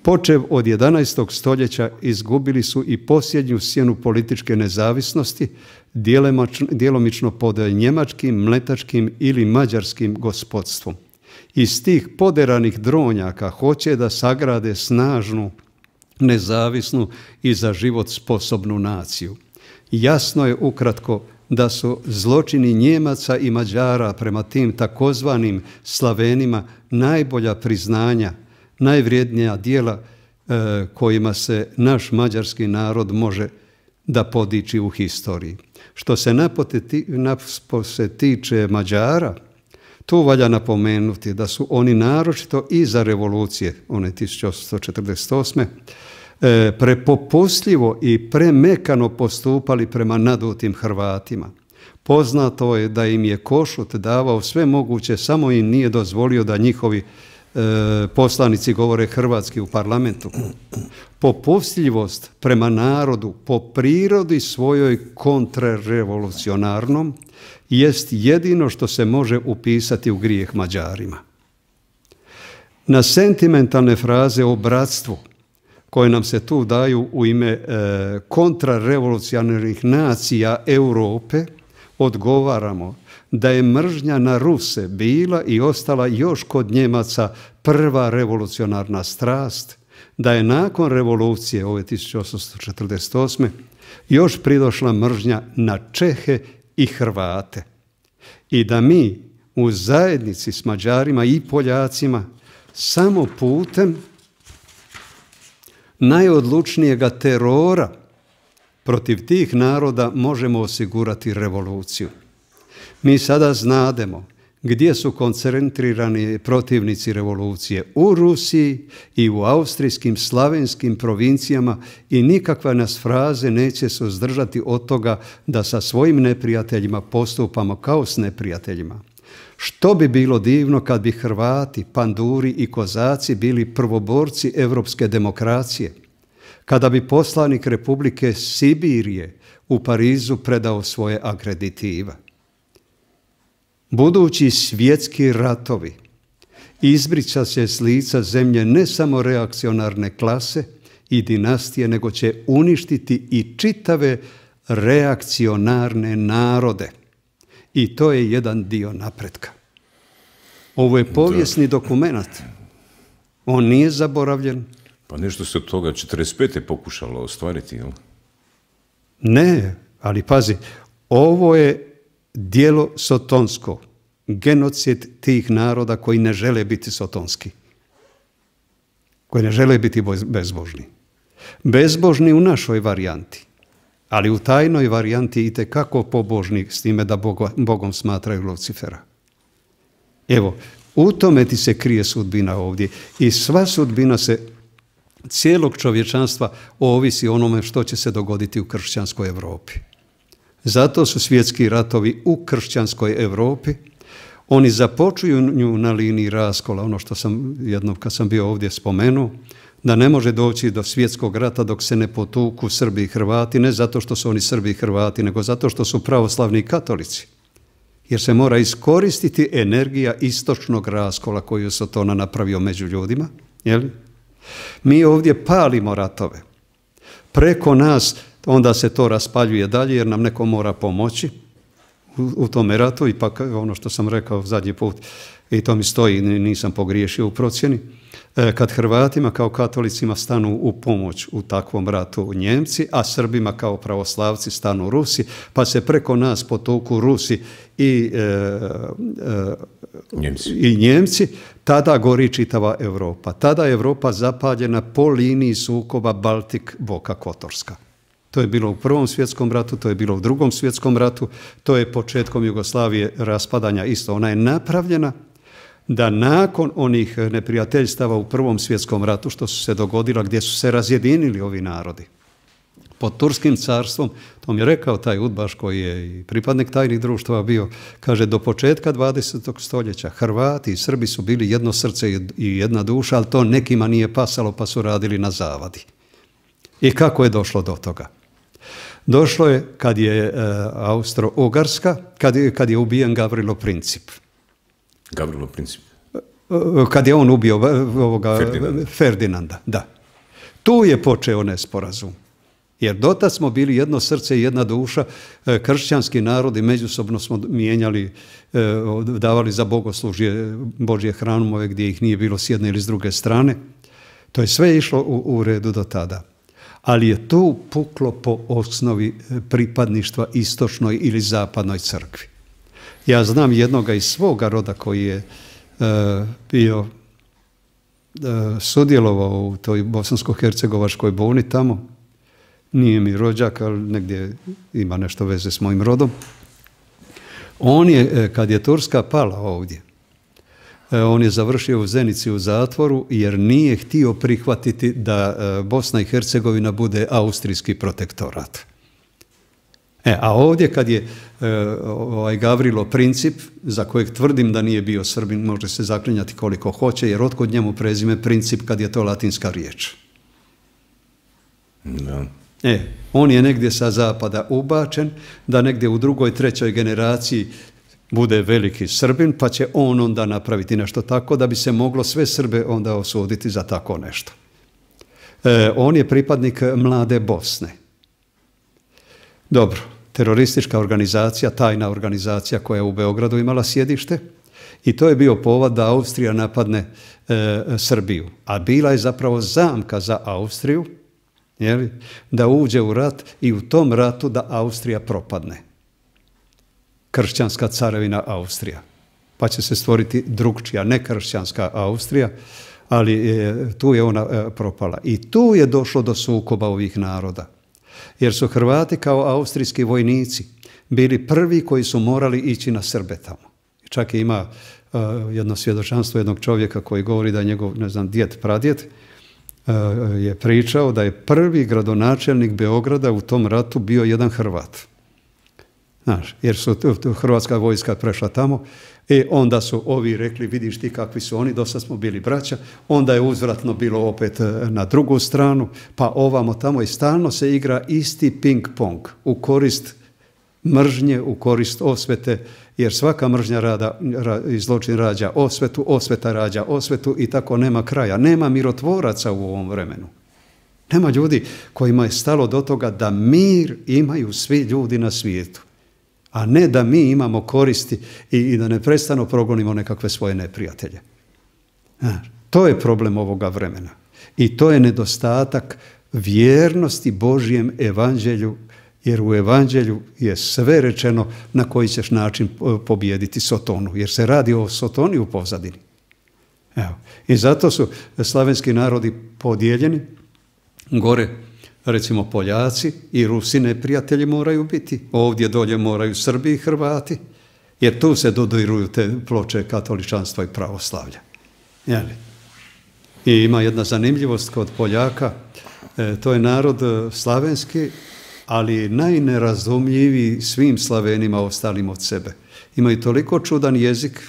Počev od 11. stoljeća izgubili su i posljednju sjenu političke nezavisnosti, djelomično pod njemačkim, mletačkim ili mađarskim gospodstvom. Iz tih poderanih dronjaka hoće da sagrade snažnu, nezavisnu i za život sposobnu naciju. Jasno je ukratko da su zločini Njemaca i Mađara prema tim takozvanim Slavenima najbolja priznanja, najvrijednija djela kojima se naš mađarski narod može da podiči u historiji. Što se napose tiče Mađara, tu valja napomenuti da su oni naročito iza revolucije, one 1848. Prepopustljivo i premekano postupali prema nadutim Hrvatima. Poznato je da im je Košut davao sve moguće, samo im nije dozvolio da njihovi poslanici govore hrvatski u parlamentu. Popustljivost prema narodu po prirodi svojoj kontrarevolucionarnom jest jedino što se može upisati u grijeh Mađarima. Na sentimentalne fraze o bratstvu koje nam se tu daju u ime kontrarevolucionarnih nacija Europe odgovaramo da je mržnja na Ruse bila i ostala još kod Njemaca prva revolucionarna strast, da je nakon revolucije ove 1848. još pridošla mržnja na Čehe i Hrvate i da mi u zajednici s Mađarima i Poljacima samo putem najodlučnijega terora protiv tih naroda možemo osigurati revoluciju. Mi sada znademo gdje su koncentrirani protivnici revolucije, u Rusiji i u austrijskim slavenskim provincijama, i nikakva nas fraze neće suzdržati od toga da sa svojim neprijateljima postupamo kao s neprijateljima. Što bi bilo divno kad bi Hrvati, Panduri i Kozaci bili prvoborci evropske demokracije, kada bi poslanik Republike Sibirije u Parizu predao svoje akreditiva. Budući svjetski ratovi izbrića se s lica zemlje ne samo reakcionarne klase i dinastije, nego će uništiti i čitave reakcionarne narode. I to je jedan dio napretka. Ovo je povijesni dokument. On nije zaboravljen. Pa nešto se od toga 45. pokušalo ostvariti, jel? Ne, ali pazi, ovo je djelo sotonsko, genocid tih naroda koji ne žele biti sotonski, koji ne žele biti bezbožni. Bezbožni u našoj varijanti, ali u tajnoj varijanti itekako pobožni, s time da Bogom smatraju Lucifera. Evo, u tome ti se krije sudbina ovdje i sva sudbina se cijelog čovječanstva ovisi onome što će se dogoditi u kršćanskoj Europi. Zato su svjetski ratovi u kršćanskoj Europi. Oni započinju na liniji raskola, ono što sam jednom kad sam bio ovdje spomenuo, da ne može doći do svjetskog rata dok se ne potuku Srbi i Hrvati, ne zato što su oni Srbi i Hrvati, nego zato što su pravoslavni katolici. Jer se mora iskoristiti energija istočnog raskola koju je Sotona napravio među ljudima. Jel? Mi ovdje palimo ratove. Preko nas onda se to raspaljuje dalje jer nam neko mora pomoći u tome ratu. Ipak ono što sam rekao zadnji put, i to mi stoji, nisam pogriješio u procjeni, kad Hrvatima kao katolicima stanu u pomoć u takvom ratu Njemci, a Srbima kao pravoslavci stanu Rusi, pa se preko nas potuku Rusi i Njemci, tada gori čitava Europa. Tada je Europa zapaljena po liniji sukoba Baltik-Boka Kotorska. To je bilo u Prvom svjetskom ratu, to je bilo u Drugom svjetskom ratu, to je početkom Jugoslavije raspadanja isto. Ona je napravljena da nakon onih neprijateljstava u Prvom svjetskom ratu što su se dogodila, gdje su se razjedinili ovi narodi. Pod Turskim carstvom, to mi je rekao taj udbaš koji je i pripadnik tajnih društava bio, kaže do početka 20. stoljeća Hrvati i Srbi su bili jedno srce i jedna duša, ali to nekima nije pasalo pa su radili na zavadi. I kako je došlo do toga? Došlo je kad je Austro-Ugarska, kad je ubijen Gavrilo Princip. Gavrilo Princip? Kad je on ubio Ferdinanda, da. Tu je počeo nesporazum. Jer dotad smo bili jedno srce i jedna duša, kršćanski narodi međusobno smo mijenjali, davali za bogoslužje Božje hramove gdje ih nije bilo s jedne ili s druge strane. To je sve išlo u redu do tada. Ali je tu puklo po osnovi pripadništva istočnoj ili zapadnoj crkvi. Ja znam jednoga iz svoga roda koji je bio sudjelovao u toj bosansko-hercegovačkoj buni tamo. Nije mi rođak, ali negdje ima nešto veze s mojim rodom. On je, kad je Turska pala ovdje, on je završio u Zenici u zatvoru jer nije htio prihvatiti da Bosna i Hercegovina bude austrijski protektorat. A ovdje kad je Gavrilo Princip, za kojeg tvrdim da nije bio Srbin, može se zaklinjati koliko hoće, jer otkud njemu prezime Princip kad je to latinska riječ. Da. On je negdje sa zapada ubačen, da negdje u drugoj, trećoj generaciji bude veliki Srbin, pa će on onda napraviti nešto tako da bi se moglo sve Srbe onda osuditi za tako nešto. On je pripadnik Mlade Bosne. Dobro, teroristička organizacija, tajna organizacija koja je u Beogradu imala sjedište i to je bio povod da Austrija napadne Srbiju. A bila je zapravo zamka za Austriju, da uđe u rat i u tom ratu da Austrija propadne. Kršćanska carevina Austrija. Pa će se stvoriti drugčija, ne kršćanska Austrija, ali tu je ona propala. I tu je došlo do sukoba ovih naroda. Jer su Hrvati kao austrijski vojnici bili prvi koji su morali ići na Srbe tamo. Čak i ima jedno svjedočanstvo jednog čovjeka koji govori da je njegov, ne znam, djed, pradjed, je pričao da je prvi gradonačelnik Beograda u tom ratu bio jedan Hrvat. Znaš, jer su hrvatska vojska prešla tamo i onda su ovi rekli, vidiš ti kakvi su oni, dosta smo bili braća, onda je uzvratno bilo opet na drugu stranu, pa ovamo tamo i stalno se igra isti ping-pong u korist mržnje, u korist osvete, jer svaka mržnja i zločin rađa osvetu, osveta rađa osvetu i tako nema kraja. Nema mirotvoraca u ovom vremenu. Nema ljudi kojima je stalo do toga da mir imaju svi ljudi na svijetu, a ne da mi imamo koristi i da neprestano progonimo nekakve svoje neprijatelje. To je problem ovoga vremena. I to je nedostatak vjernosti Božjem evanđelju, jer u evanđelju je sve rečeno na koji ćeš način pobijediti Sotonu, jer se radi o Sotoni u pozadini. Evo. I zato su slavenski narodi podijeljeni. Gore, recimo, Poljaci i Rusi neprijatelji moraju biti. Ovdje dolje moraju Srbi i Hrvati, jer tu se dodiruju te ploče katoličanstva i pravoslavlja. Jeli? I ima jedna zanimljivost kod Poljaka, to je narod slavenski, ali najnerazumljiviji svim Slavenima ostalim od sebe. Imaju toliko čudan jezik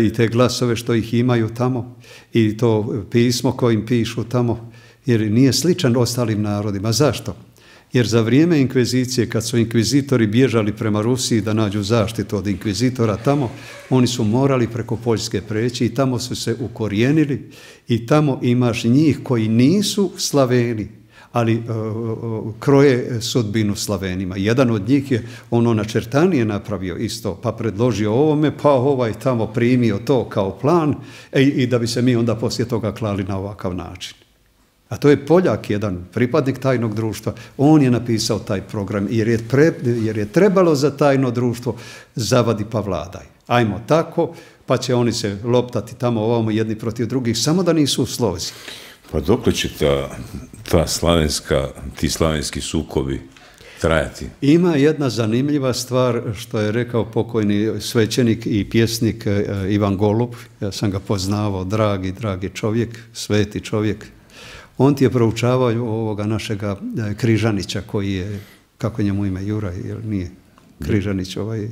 i te glasove što ih imaju tamo i to pismo kojim pišu tamo, jer nije sličan ostalim narodima. Zašto? Jer za vrijeme inkvizicije, kad su inkvizitori bježali prema Rusiji da nađu zaštitu od inkvizitora tamo, oni su morali preko Poljske preći i tamo su se ukorijenili i tamo imaš njih koji nisu Slaveni, ali kroje sudbinu Slavenima. Jedan od njih je ono načrtanije napravio isto, pa predložio ovome, pa ovaj tamo primio to kao plan i da bi se mi onda poslije toga klali na ovakav način. A to je Poljak, jedan pripadnik tajnog društva. On je napisao taj program jer je trebalo za tajno društvo zavadi pa vladaj. Ajmo tako, pa će oni se loptati tamo ovamo jedni protiv drugih, samo da nisu u slozi. Pa dokle će ti slavenski sukobi trajati? Ima jedna zanimljiva stvar što je rekao pokojni svećenik i pjesnik Ivan Golub. Ja sam ga poznavao, dragi čovjek, sveti čovjek. On ti je proučavao ovoga našega Križanića koji je, kako je njemu ime, Juraj, jer nije Križanić ovaj...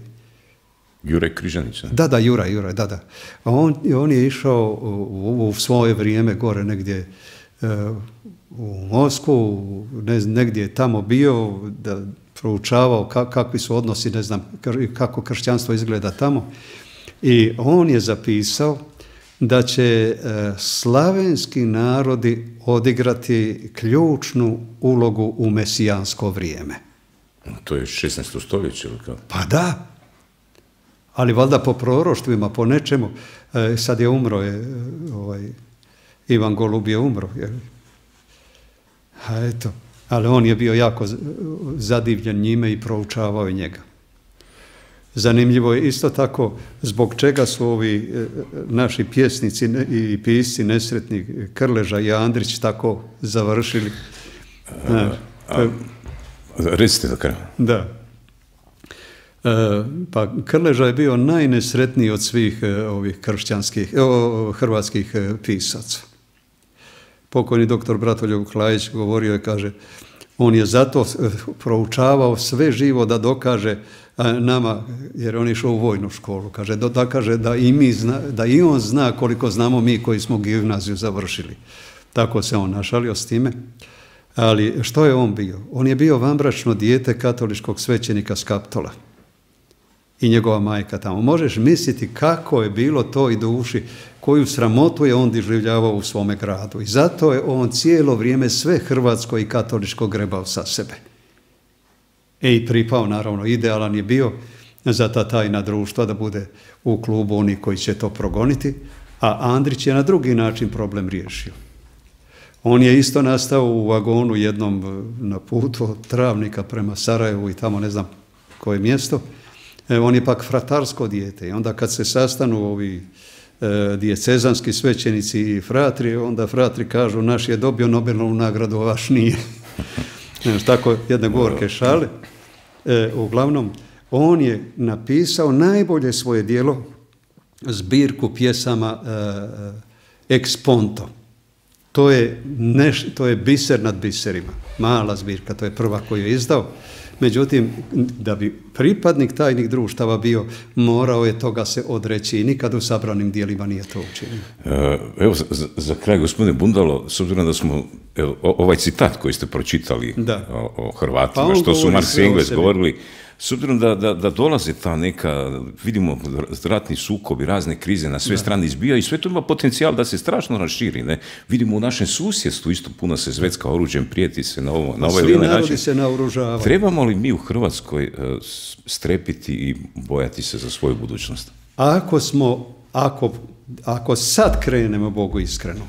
Juraj Križanić, da? Da, Juraj, da. A on je išao u svoje vrijeme gore negdje u Moskvu, negdje je tamo bio, da proučavao kakvi su odnosi, ne znam, kako kršćanstvo izgleda tamo. I on je zapisao da će slavenski narodi odigrati ključnu ulogu u mesijansko vrijeme. To je 16. stoljeće ili kako? Pa da, ali valjda po proroštvima, po nečemu. Sad je umro, Ivan Golub je umro. A eto, ali on je bio jako zadivljen njime i proučavao je njega. Zanimljivo je isto tako zbog čega su ovi naši pjesnici i pisci nesretni Krleža i Andrić tako završili. Recite do kraja. Da. Pa Krleža je bio najnesretniji od svih ovih hrvatskih pisaca. Pokojni doktor Bratoljub Klajić govorio je, kaže, on je zato proučavao sve živo da dokaže nama, jer on je išao u vojnu školu, kaže, dokaže da i on zna koliko znamo mi koji smo gimnaziju završili. Tako se on našalio s time. Ali što je on bio? On je bio vanbračno dijete katoličkog svećenika Skaptola i njegova majka tamo. Možeš misliti kako je bilo to i duši, koju sramotu je on doživljavao u svome gradu. I zato je on cijelo vrijeme sve hrvatsko i katoličko grebao sa sebe. I pripao, naravno, idealan je bio za ta tajna društva da bude u klubu oni koji će to progoniti, a Andrić je na drugi način problem riješio. On je isto nastao u vagonu jednom na putu od Travnika prema Sarajevu i tamo ne znam koje mjesto. On je pak fratarsko dijete i onda kad se sastanu ovi dijecezanski svećenici i fratri, onda fratri kažu naš je dobio Nobelovu nagradu, a vaš nije. Tako jedne gorke šale. Uglavnom, on je napisao najbolje svoje djelo, zbirku pjesama Ex Ponto. To je biser nad biserima, mala zbirka, to je prva koju je izdao. Međutim, da bi pripadnik tajnih društava bio, morao je toga se odreći i nikad u sabranim dijelima nije to učinio. Evo, za kraj, gospodine Bundalo, s obzirom da smo, ovaj citat koji ste pročitali o Hrvatima, pa što su Marks i Engels govorili, s obzirom da dolaze ta neka, vidimo, ratni sukobi, razne krize na sve strane izbijaju i sve to ima potencijal da se strašno raširi. Ne? Vidimo u našem susjedstvu isto puno se zvecka oružjem, prijeti se na ovaj ili onaj način. Svi narodi se naoružavaju. Trebamo li mi u Hrvatskoj strepiti i bojati se za svoju budućnost? Ako sad krenemo Bogu iskreno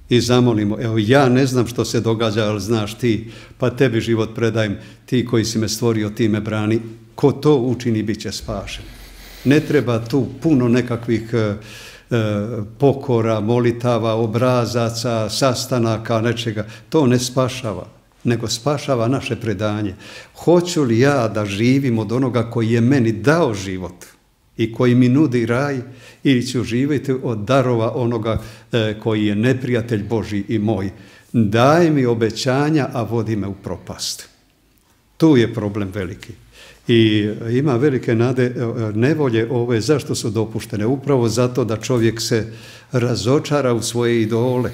i zamolimo, evo ja ne znam što se događa, ali znaš ti, pa tebi život predajem, ti koji si me stvorio, ti me brani, ko to učini bit će spašen. Ne treba tu puno nekakvih pokora, molitava, obrazaca, sastanaka, nečega, to ne spašava, nego spašava naše predanje. Hoću li ja da živim od onoga koji je meni dao život? i koji mi nudi raj, ili ću živjeti od darova onoga koji je neprijatelj Božji i moj. Daj mi obećanja, a vodi me u propast. Tu je problem veliki. I ima velike nevolje ove, zašto su dopuštene? Upravo zato da čovjek se razočara u svoje idole,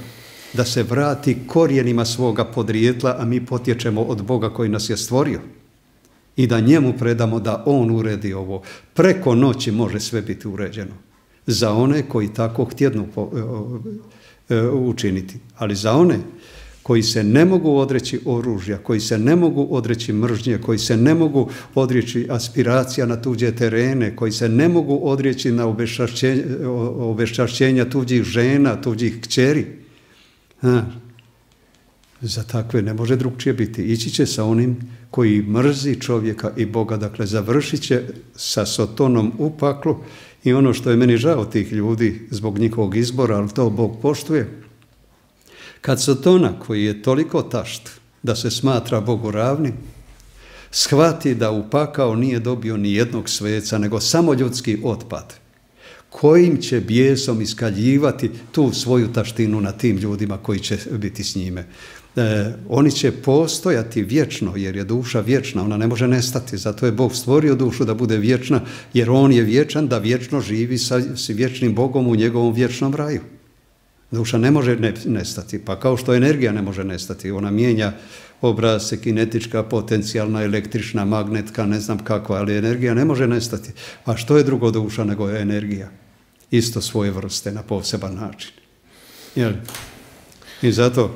da se vrati korijenima svoga podrijetla, a mi potječemo od Boga koji nas je stvorio. I da njemu predamo da on uredi ovo. Preko noći može sve biti uređeno. Za one koji tako htjednu učiniti. Ali za one koji se ne mogu odreći oružja, koji se ne mogu odreći mržnje, koji se ne mogu odreći aspiracija na tuđe terene, koji se ne mogu odreći na obeščašćenja tuđih žena, tuđih kćeri. Za takve ne može drugčije biti. Ići će sa onim koji mrzi čovjeka i Boga, dakle završit će sa Sotonom u paklu. I ono što je meni žao tih ljudi zbog njihovog izbora, ali to Bog poštuje, kad Sotona, koji je toliko tašt da se smatra Bogu ravnim, shvati da u pakao nije dobio ni jednog sveca, nego samo ljudski otpad, kojim će bijesom iskaljivati tu svoju taštinu na tim ljudima koji će biti s njime. Oni će postojati vječno, jer je duša vječna, ona ne može nestati. Zato je Bog stvorio dušu da bude vječna, jer on je vječan, da vječno živi sa vječnim Bogom u njegovom vječnom raju. Duša ne može nestati, pa kao što energija ne može nestati, ona mijenja obrasce, kinetička, potencijalna, električna, magnetka, ne znam kakva, ali energija ne može nestati. A što je drugo duša nego je energija? Isto svoje vrste, na poseban način. Jel? I zato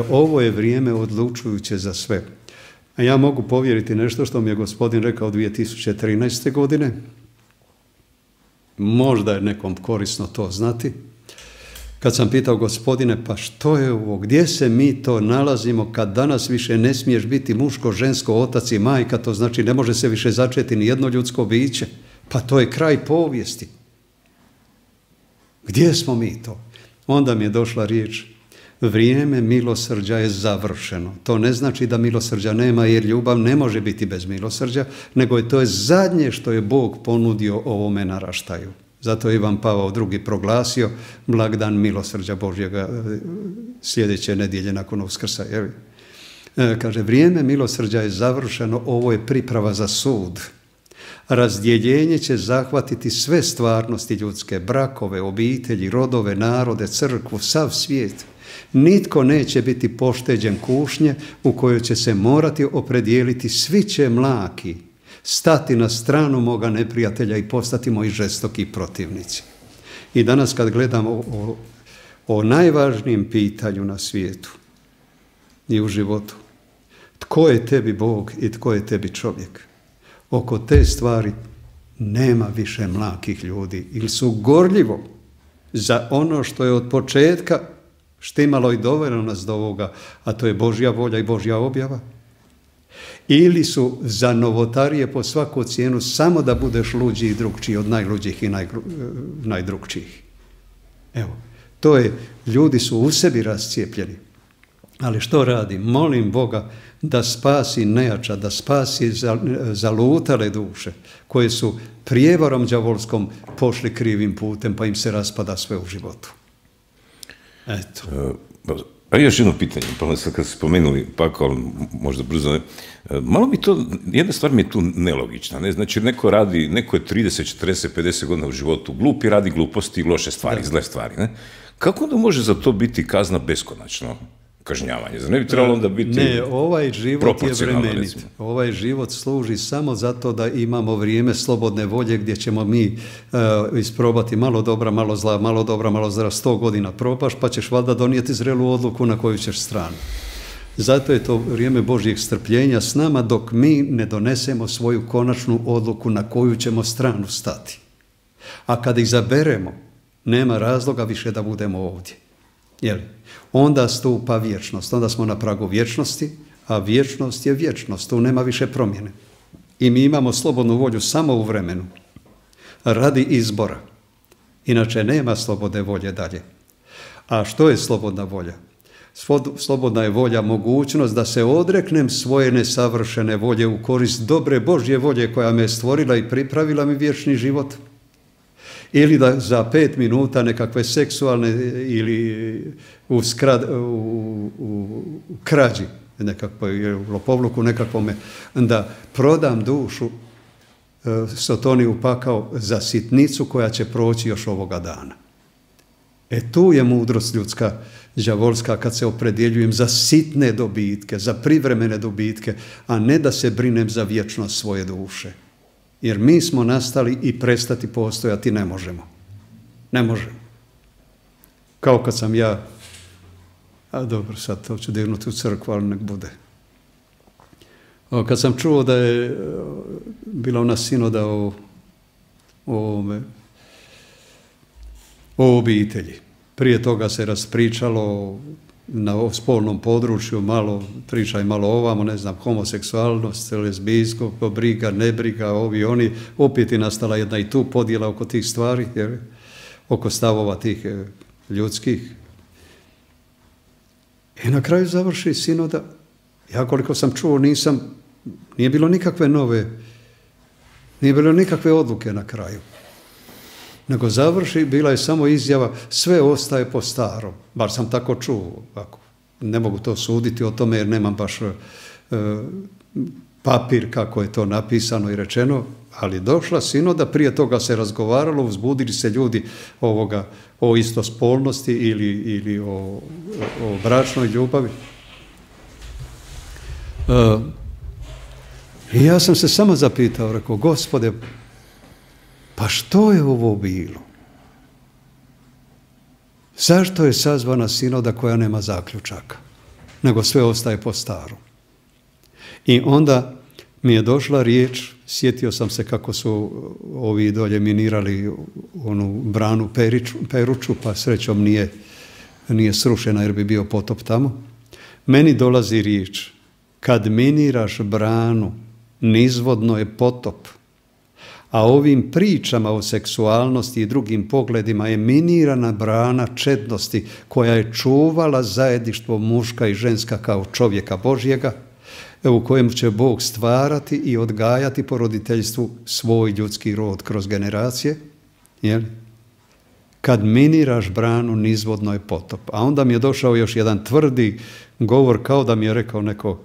ovo je vrijeme odlučujuće za sve. A ja mogu povjeriti nešto što mi je Gospodin rekao 2013. godine. Možda je nekom korisno to znati. Kad sam pitao Gospodine, pa što je ovo, gdje se mi to nalazimo kad danas više ne smiješ biti muško, žensko, otac i majka, to znači ne može se više začeti ni jedno ljudsko biće, pa to je kraj povijesti. Gdje smo mi to? Onda mi je došla riječ, vrijeme milosrđa je završeno. To ne znači da milosrđa nema, jer ljubav ne može biti bez milosrđa, nego to je zadnje što je Bog ponudio ovome naraštaju. Zato je Ivan Pavao II proglasio blagdan milosrđa Božjega sljedeće nedjelje nakon Uskrsa. Kaže, vrijeme milosrđa je završeno, ovo je priprava za sud. Razdjeljenje će zahvatiti sve stvarnosti ljudske, brakove, obitelji, rodove, narode, crkvu, sav svijet. Nitko neće biti pošteđen kušnje u kojoj će se morati opredijeliti, svi će mlaki stati na stranu moga neprijatelja i postati moji žestoki protivnici. I danas kad gledamo o najvažnijem pitanju na svijetu i u životu, tko je tebi Bog i tko je tebi čovjek, oko te stvari nema više mlakih ljudi ili su gorljivo za ono što je od početka štimalo i dovelo nas do ovoga, a to je Božja volja i Božja objava. Ili su za novotarije po svaku cijenu samo da budeš luđi i drugčiji od najluđih i najdrugčijih. Evo, to je, ljudi su u sebi rascijepljeni. Ali što radi? Molim Boga da spasi nejača, da spasi zalutale duše koje su prijevarom đavolskom pošli krivim putem pa im se raspada sve u životu. Eto. A još jedno pitanje, pa sad kad ste spomenuli pakao, možda brzo ne, malo mi to, jedna stvar mi je tu nelogična, ne? Znači neko radi, neko je 30, 40, 50 godina u životu glupi, radi gluposti i loše stvari, zle stvari, ne? Kako onda može za to biti kazna beskonačno kažnjavanje? Zar ne bi trebalo onda biti Ne, ovaj život je vremenit. Ovaj život služi samo zato da imamo vrijeme slobodne volje gdje ćemo mi isprobati malo dobra, malo zla, malo dobra, malo zla, 100 godina probaš, pa ćeš valjda donijeti zrelu odluku na koju ćeš stranu. Zato je to vrijeme Božjeg strpljenja s nama dok mi ne donesemo svoju konačnu odluku na koju ćemo stranu stati. A kad izaberemo, nema razloga više da budemo ovdje. Jel? Onda stupa vječnost, onda smo na pragu vječnosti, a vječnost je vječnost, tu nema više promjene. I mi imamo slobodnu volju samo u vremenu, radi izbora. Inače nema slobodne volje dalje. A što je slobodna volja? Slobodna je volja mogućnost da se odreknem svoje nesavršene volje u korist dobre Božje volje koja me je stvorila i pripravila mi vječni život. Ili da za 5 minuta nekakve seksualne ili u krađi, nekakvoj lopovluku nekakvome, da prodam dušu Sotoniju pakao za sitnicu koja će proći još ovoga dana. Tu je mudrost ljudska, đavolska, kad se opredjeljujem za sitne dobitke, za privremene dobitke, a ne da se brinem za vječnost svoje duše. Jer mi smo nastali i prestati postojati ne možemo. Ne možemo. Kao kad sam ja, a dobro, sad to ću dirnuti u crkvu, ali nek bude. Kad sam čuo da je bila ona sinoda o obitelji. Prije toga se raspričalo na spolnom području, malo pričaj, malo ovamo, ne znam, homoseksualnost, lezbijsko, briga, nebriga, ovi, oni. Opet je nastala jedna i tu podjela oko tih stvari, jer, oko stavova tih ljudskih. I na kraju završi sinoda. Ja koliko sam čuo nije bilo nikakve odluke na kraju. Nego završi, bila je samo izjava, sve ostaje po starom. Bar sam tako čuo. Ne mogu to suditi o tome jer nemam baš papir kako je to napisano i rečeno, ali došla sinoda, prije toga se razgovaralo, uzbudili se ljudi o istospolnosti ili o bračnoj ljubavi. I ja sam se samo zapitao, rekao, Gospode, pa što je ovo bilo? Zašto je sazvana sinoda koja nema zaključaka, nego sve ostaje po starom? I onda mi je došla riječ, sjetio sam se kako su ovi dolje minirali onu branu Peruču, pa srećom nije srušena jer bi bio potop tamo. Meni dolazi riječ, kad miniraš branu, nizvodno je potop. A ovim pričama o seksualnosti i drugim pogledima je minirana brana čednosti koja je čuvala zajedništvo muška i ženska kao čovjeka Božjega, u kojem će Bog stvarati i odgajati po roditeljstvu svoj ljudski rod kroz generacije. Jel? Kad miniraš branu, nizvodno je potop. A onda mi je došao još jedan tvrdi govor, kao da mi je rekao neko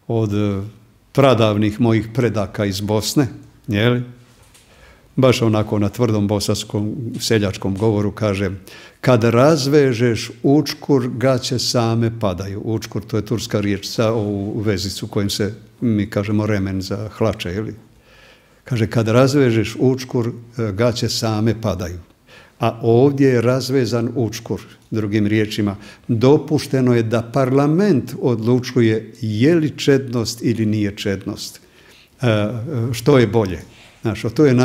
od pradavnih mojih predaka iz Bosne, jel? Baš onako na tvrdom bosanskom seljačkom govoru kaže, kad razvežeš učkur, gaće same padaju. Učkur, to je turska riječ za ovu vezicu kojim se mi kažemo remen za hlače. Ili? Kaže, kad razvežeš učkur, gaće same padaju. A ovdje je razvezan učkur. Drugim riječima, dopušteno je da parlament odlučuje je li čednost ili nije čednost. Što je bolje. Znaš, to je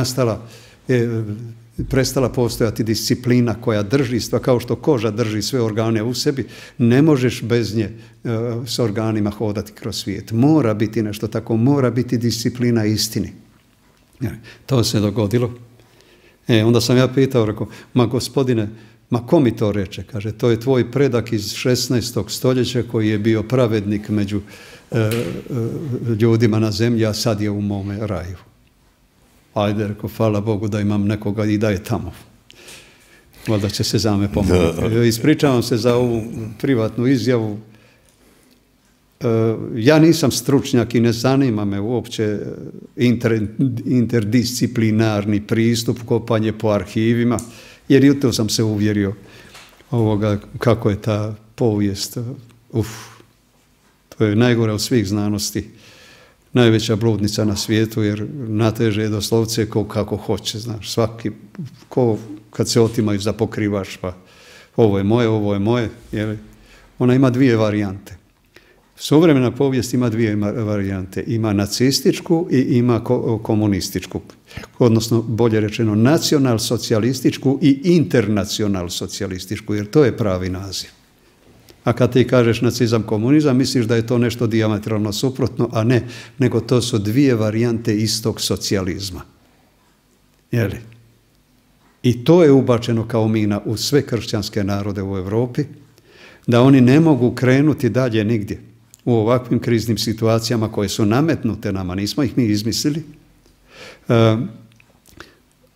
prestala postojati disciplina koja drži, kao što koža drži sve organe u sebi, ne možeš bez nje s organima hodati kroz svijet. Mora biti nešto tako, mora biti disciplina istini. To se dogodilo. Onda sam ja pitao, rekao, ma gospodine, ma ko mi to reče? Kaže, to je tvoj predak iz 16. stoljeća koji je bio pravednik među ljudima na zemlji, a sad je u mome raju. Ajde, rekao, hvala Bogu da imam nekoga i da je tamo. Valjda će se za me pomoći. Ispričavam se za ovu privatnu izjavu. Ja nisam stručnjak i ne zanima me uopće interdisciplinarni pristup, kopanje po arhivima, jer i to sam se uvjerio kako je ta povijest. To je najgore od svih znanosti. Najveća bludnica na svijetu, jer nateže doslovce kako hoće, znaš, svaki, kad se otimaju za pokrivač, pa ovo je moje, jer ona ima dvije varijante. Suvremena povijest ima dvije varijante, ima nacističku i ima komunističku, odnosno bolje rečeno nacional-socijalističku i internacional-socijalističku, jer to je pravi naziv. A kad ti kažeš nacizam, komunizam, misliš da je to nešto dijametralno suprotno, a ne, nego to su dvije varijante istog socijalizma. Jeli? I to je ubačeno kao mina u sve kršćanske narode u Europi, da oni ne mogu krenuti dalje nigdje u ovakvim kriznim situacijama koje su nametnute nama, nismo ih mi izmislili,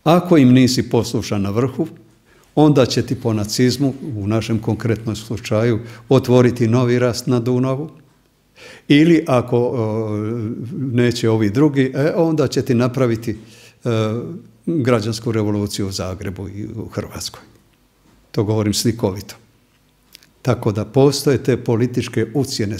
Ako im nisi poslušan na vrhu, onda će ti po nacizmu, u našem konkretnom slučaju, otvoriti novi rast na Dunavu. Ili ako neće ovi drugi, onda će ti napraviti građansku revoluciju u Zagrebu i u Hrvatskoj. To govorim slikovito. Tako da postoje te političke ucjene.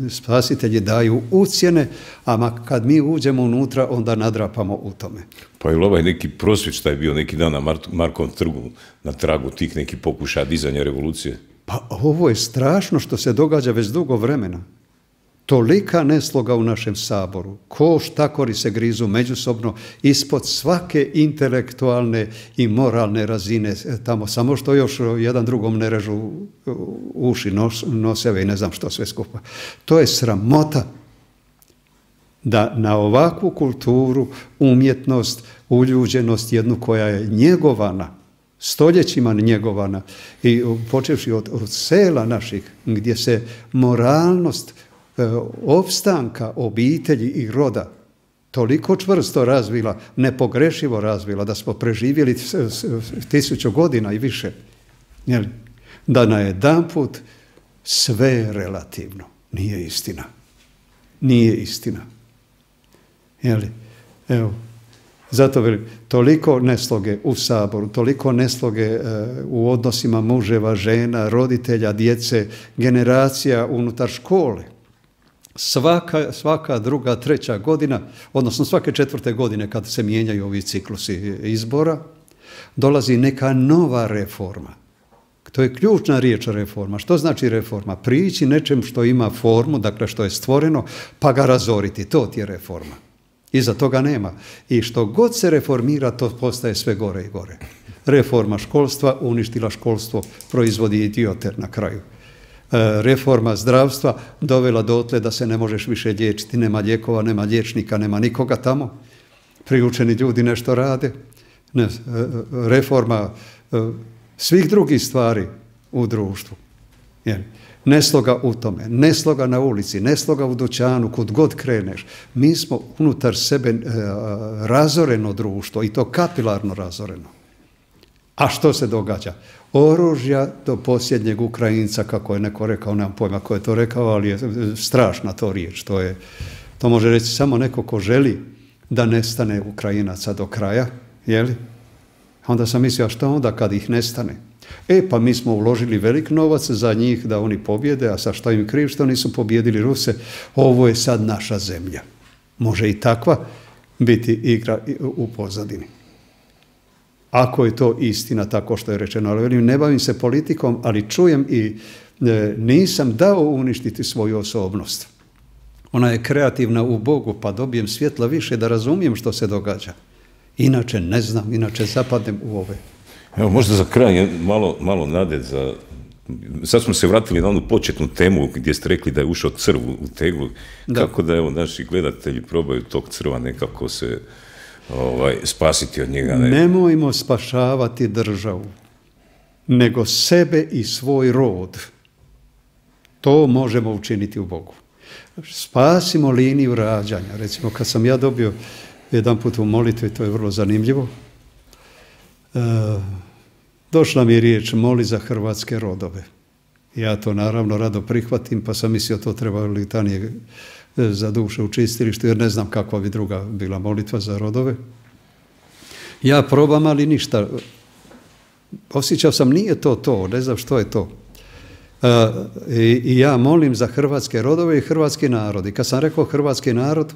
Spasitelji daju ucjene, a kad mi uđemo unutra, onda nadrapamo u tome. Pa je li ovaj neki prosvjed šta je bio neki dan na Markovom trgu, na tragu tih nekih pokušaja dizanja revolucije? Pa ovo je strašno što se događa već dugo vremena. Tolika nesloga u našem Saboru, ko štakori se grizu međusobno ispod svake intelektualne i moralne razine tamo, samo što još jedan drugom ne režu uši, noseve i ne znam što sve skupa. To je sramota da na ovakvu kulturu, umjetnost, uljuđenost jednu koja je njegovana, stoljećima njegovana i počevši od sela naših gdje se moralnost opstanka obitelji i roda toliko čvrsto razvila, nepogrešivo razvila, da smo preživjeli 1000 godina i više. Da najedanput sve je relativno. Nije istina. Nije istina. Evo, zato velim, toliko nesloge u Saboru, toliko nesloge u odnosima muževa, žena, roditelja, djece, generacija unutar škole. Svaka druga, treća godina, odnosno svake 4. godine kad se mijenjaju ovi ciklusi izbora, dolazi neka nova reforma. To je ključna riječ reforma. Što znači reforma? Prići nečem što ima formu, dakle što je stvoreno, pa ga razoriti. To ti je reforma. Iza toga nema. I što god se reformira, to postaje sve gore i gore. Reforma školstva uništila školstvo, proizvodi idiote na kraju. Reforma zdravstva dovela dotle da se ne možeš više liječiti, nema lijekova, nema liječnika, nema nikoga tamo. Priučeni ljudi nešto rade. Reforma svih drugih stvari u društvu. Nesloga u tome, nesloga na ulici, nesloga u dućanu, kud god kreneš. Mi smo unutar sebe razoreno društvo i to kapilarno razoreno. A što se događa? Oružja do posljednjeg Ukrajinca, kako je neko rekao, nemam pojma ko je to rekao, ali je strašna to riječ. To može reći samo neko ko želi da nestane Ukrajinaca do kraja, jeli? Onda sam mislio, a što onda kad ih nestane? Pa mi smo uložili velik novac za njih da oni pobjede, a sa šta im kriv što nisu pobjedili Ruse, ovo je sad naša zemlja. Može i takva biti igra u pozadini. Ako je to istina, tako što je rečeno, ali ne bavim se politikom, ali čujem i nisam dao uništiti svoju osobnost. Ona je kreativna u Bogu, pa dobijem svjetla više da razumijem što se događa. Inače ne znam, inače zapadnem u ove. Evo, možda za kraj malo nade za... Sad smo se vratili na onu početnu temu gdje ste rekli da je ušao crv u teglu. Kako da, evo, naši gledatelji probaju tog crva nekako se spasiti od njega? Nemojmo spašavati državu, nego sebe i svoj rod. To možemo učiniti u Bogu. Spasimo liniju rađanja. Recimo, kad sam ja dobio jedan put u molitvi, to je vrlo zanimljivo, došla mi je riječ moli za hrvatske rodove. Ja to naravno rado prihvatim, pa sam mislio to treba litanije za duše u čistilištu, jer ne znam kakva bi druga bila molitva za rodove. Ja probam, ali ništa. Osjećao sam, nije to, ne znam što je to. I ja molim za hrvatske rodove i hrvatski narod. I kad sam rekao hrvatski narod,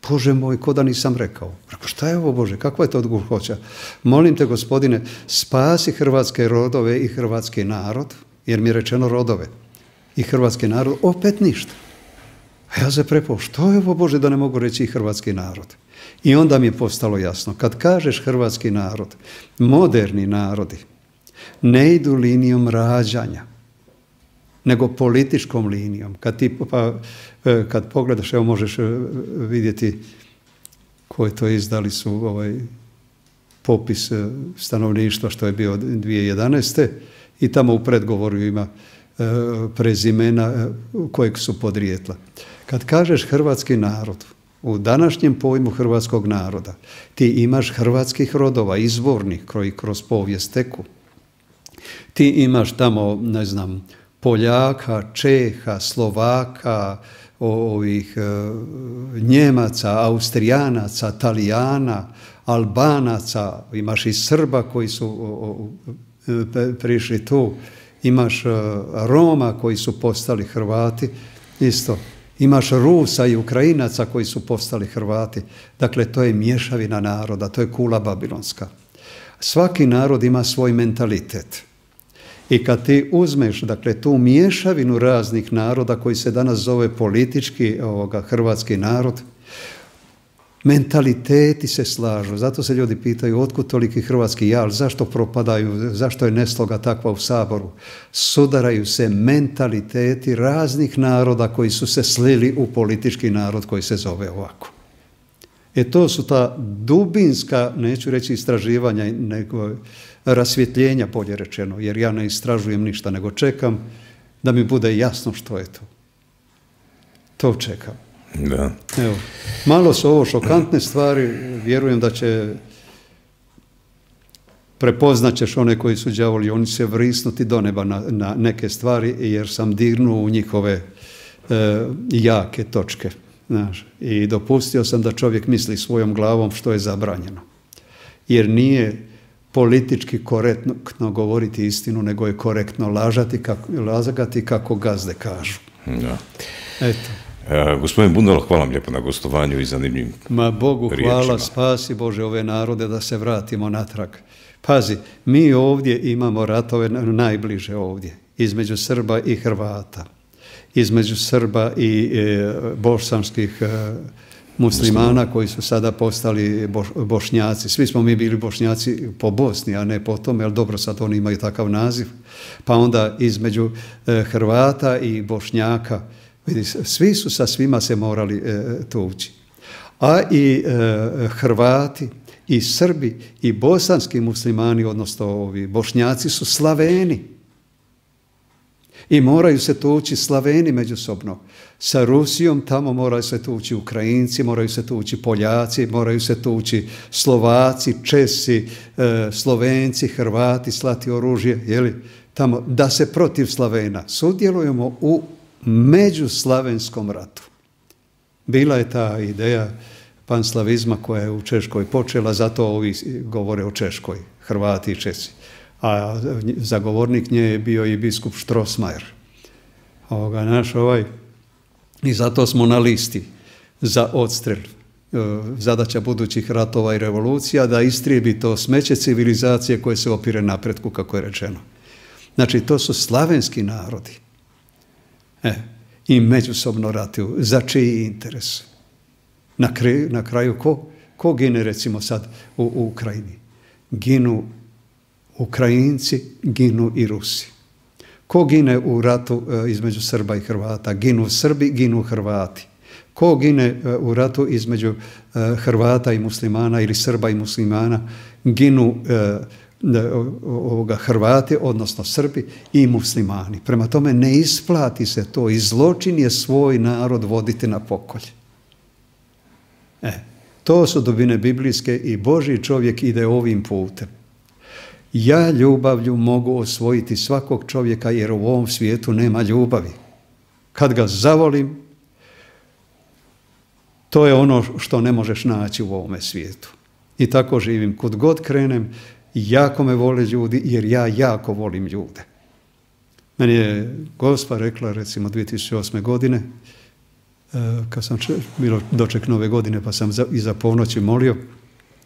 Bože moj, ko da nisam rekao. Rekao, šta je ovo, Bože, kakva je to odguhoća? Molim te, Gospodine, spasi hrvatske rodove i hrvatski narod, jer mi je rečeno rodove i hrvatski narod, opet ništa. A ja se prepao, što je ovo, Bože, da ne mogu reći i hrvatski narod? I onda mi je postalo jasno, kad kažeš hrvatski narod, moderni narodi ne idu linijom rađanja, nego političkom linijom. Kad pogledaš, evo možeš vidjeti koje to izdali su popis stanovništva što je bio 2011. I tamo u predgovoru ima prezimena kojeg su podrijetla. Kad kažeš hrvatski narod, U današnjem pojmu hrvatskog naroda ti imaš hrvatskih rodova, izvornih, koji kroz povijest teku. Ti imaš tamo, ne znam, Poljaka, Čeha, Slovaka, Njemaca, Austrijanaca, Talijana, Albanaca, imaš i Srba koji su prišli tu, imaš Roma koji su postali Hrvati, isto. Imaš Rusa i Ukrajinaca koji su postali Hrvati. Dakle, to je mješavina naroda, to je kula babilonska. Svaki narod ima svoj mentalitet. I kad ti uzmeš, dakle, tu mješavinu raznih naroda koji se danas zove politički hrvatski narod, mentaliteti se slažu. Zato se ljudi pitaju otkud toliki hrvatski jal, zašto propadaju, zašto je nesloga takva u Saboru. Sudaraju se mentaliteti raznih naroda koji su se slili u politički narod koji se zove ovako. To su ta dubinska, neću reći istraživanja, nego rasvjetljenja, bolje rečeno, jer ja ne istražujem ništa, nego čekam da mi bude jasno što je to. To čekam. Da. Evo, malo su ovo šokantne stvari, vjerujem da će prepoznat ćeš one koji su đavoli, oni će vrisnuti do neba na neke stvari, jer sam dirnuo u njihove jake točke. Znaš, i dopustio sam da čovjek misli svojom glavom što je zabranjeno. Jer nije politički korektno govoriti istinu, nego je korektno lagati kako gazde kažu. Da. Eto. Gospodin Bundalo, hvala vam lijepo na gostovanju i zanimljivim Bogu riječima. Hvala, spasi Bože ove narode da se vratimo natrag. Pazi, mi ovdje imamo ratove najbliže ovdje, između Srba i Hrvata, između Srba i bosanskih muslimana koji su sada postali Bošnjaci. Svi smo mi bili Bošnjaci po Bosni, a ne po tome, ali dobro, sad oni imaju takav naziv. Pa onda između Hrvata i Bošnjaka, vidi, svi su sa svima se morali tući. A i Hrvati i Srbi i bosanski muslimani, odnosno ovi Bošnjaci, su Slaveni. I moraju se tući Slaveni međusobno. Sa Rusijom tamo moraju se tući Ukrajinci, moraju se tući Poljaci, moraju se tući Slovaci, Česi, Slovenci, Hrvati, slati oružje, jeli, tamo, da se protiv Slavena. Sudjelujemo u međuslavenskom ratu. Bila je ta ideja panslavizma koja je u Češkoj počela, zato ovi govore o Češkoj, Hrvati i Česi. A zagovornik nje je bio i biskup Strossmayer. I zato smo na listi za odstrel. Zadaća budućih ratova i revolucija da istrijebi to smeće civilizacije koje se opire napretku, kako je rečeno. Znači, to su slavenski narodi. I međusobno ratuju. Za čiji interes? Na kraju ko gine, recimo sad u Ukrajini? Ginu Ukrajinci, ginu i Rusi. Ko gine u ratu između Srba i Hrvata? Ginu Srbi, ginu Hrvati. Ko gine u ratu između Hrvata i muslimana ili Srba i muslimana? Ginu Hrvati, odnosno Srbi i muslimani. Prema tome ne isplati se to i zločin je svoj narod voditi na pokolj. To su dubine biblijske i Božji čovjek ide ovim putem. Ja ljubavlju mogu osvojiti svakog čovjeka jer u ovom svijetu nema ljubavi. Kad ga zavolim, to je ono što ne možeš naći u ovome svijetu. I tako živim. Kud god krenem, jako me vole ljudi jer ja jako volim ljude. Meni je Gospa rekla, recimo 2008. godine, kad sam bilo doček nove godine, pa sam iza ponoći molio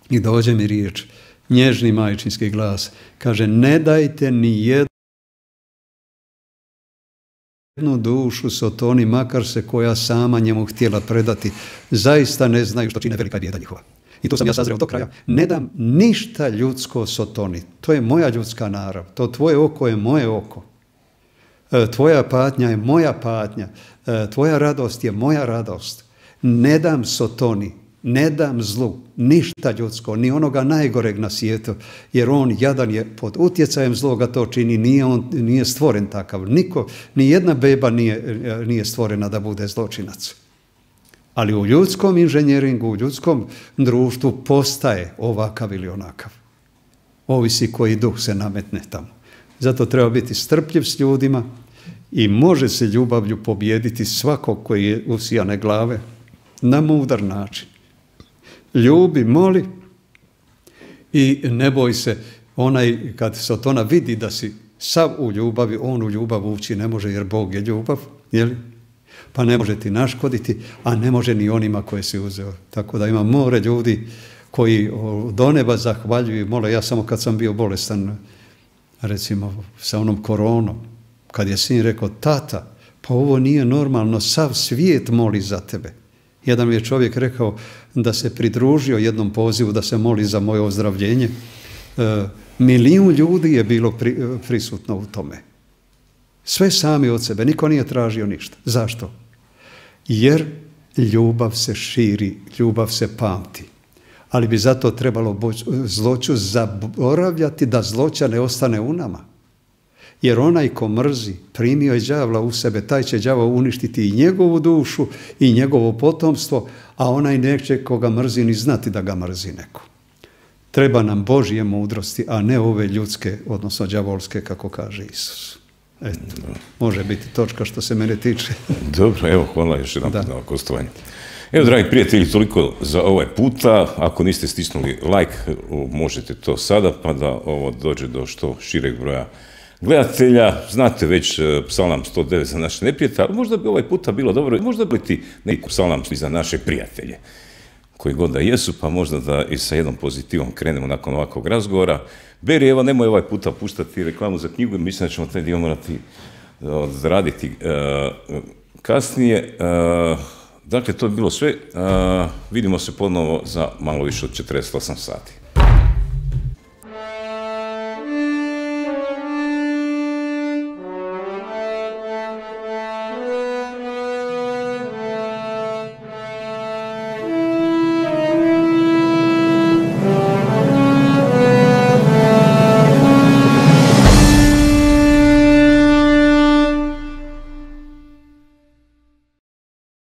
i dođe mi riječ, nježni majčinski glas, kaže, ne dajte ni jednu dušu Sotoni, makar se koja sama njemu htjela predati, zaista ne znaju što čine velika bijeda njihova. I to sam ja sazreo do kraja. Ne dam ništa ljudsko Sotoni. To je moja ljudska narav. To tvoje oko je moje oko. Tvoja patnja je moja patnja. Tvoja radost je moja radost. Ne dam Sotoni, ne dam zlu, ništa ljudsko, ni onoga najgoreg na svijetu, jer on jadan je pod utjecajem zloga to čini, nije stvoren takav. Ni jedna beba nije stvorena da bude zločinac. Ali u ljudskom inženjeringu, u ljudskom društvu postaje ovakav ili onakav. Ovisi koji duh se nametne tamo. Zato treba biti strpljiv s ljudima i može se ljubavlju pobijediti svakog koji je usijane glave na mudar način. Ljubi, moli i ne boj se, onaj kad se od ona vidi da si sav u ljubavi, on u ljubav ući ne može jer Bog je ljubav, jeli? Pa ne može ti naškoditi, a ne može ni onima koje si uzeo. Tako da ima more ljudi koji do neba zahvaljuju, mole. Ja samo kad sam bio bolestan, recimo sa onom koronom, kad je sin rekao, tata, pa ovo nije normalno, sav svijet moli za tebe. Jedan mi je čovjek rekao da se pridružio jednom pozivu da se moli za moje ozdravljenje. 1 milijun ljudi je bilo prisutno u tome. Sve sami od sebe, niko nije tražio ništa. Zašto? Jer ljubav se širi, ljubav se pamti. Ali bi zato trebalo zloću zaboravljati da zloća ne ostane u nama. Jer onaj ko mrzi, primio je đavla u sebe, taj će đavo uništiti i njegovu dušu i njegovo potomstvo, a onaj neće koga mrzi ni znati da ga mrzi neko. Treba nam Božje mudrosti, a ne ove ljudske, odnosno đavolske, kako kaže Isus. Eto, može biti točka što se mene tiče. Dobro, evo, hvala još jedan put na gostovanju. Evo, dragi prijatelji, toliko za ovaj puta. Ako niste stisnuli like, možete to sada, pa da ovo dođe do što šireg broja gledatelja. Znate već psalam 109 za naše neprijatelje, ali možda bi ovaj puta bilo dobro, možda bi ti neki psalam za naše prijatelje, koji god da jesu, pa možda da i sa jednom pozitivom krenemo nakon ovakvog razgovora. Beri, evo, nemoj ovaj puta puštati reklamu za knjigu, mislim da ćemo taj dio morati odraditi kasnije. Dakle, to je bilo sve. Vidimo se ponovo za malo više od 48 sati.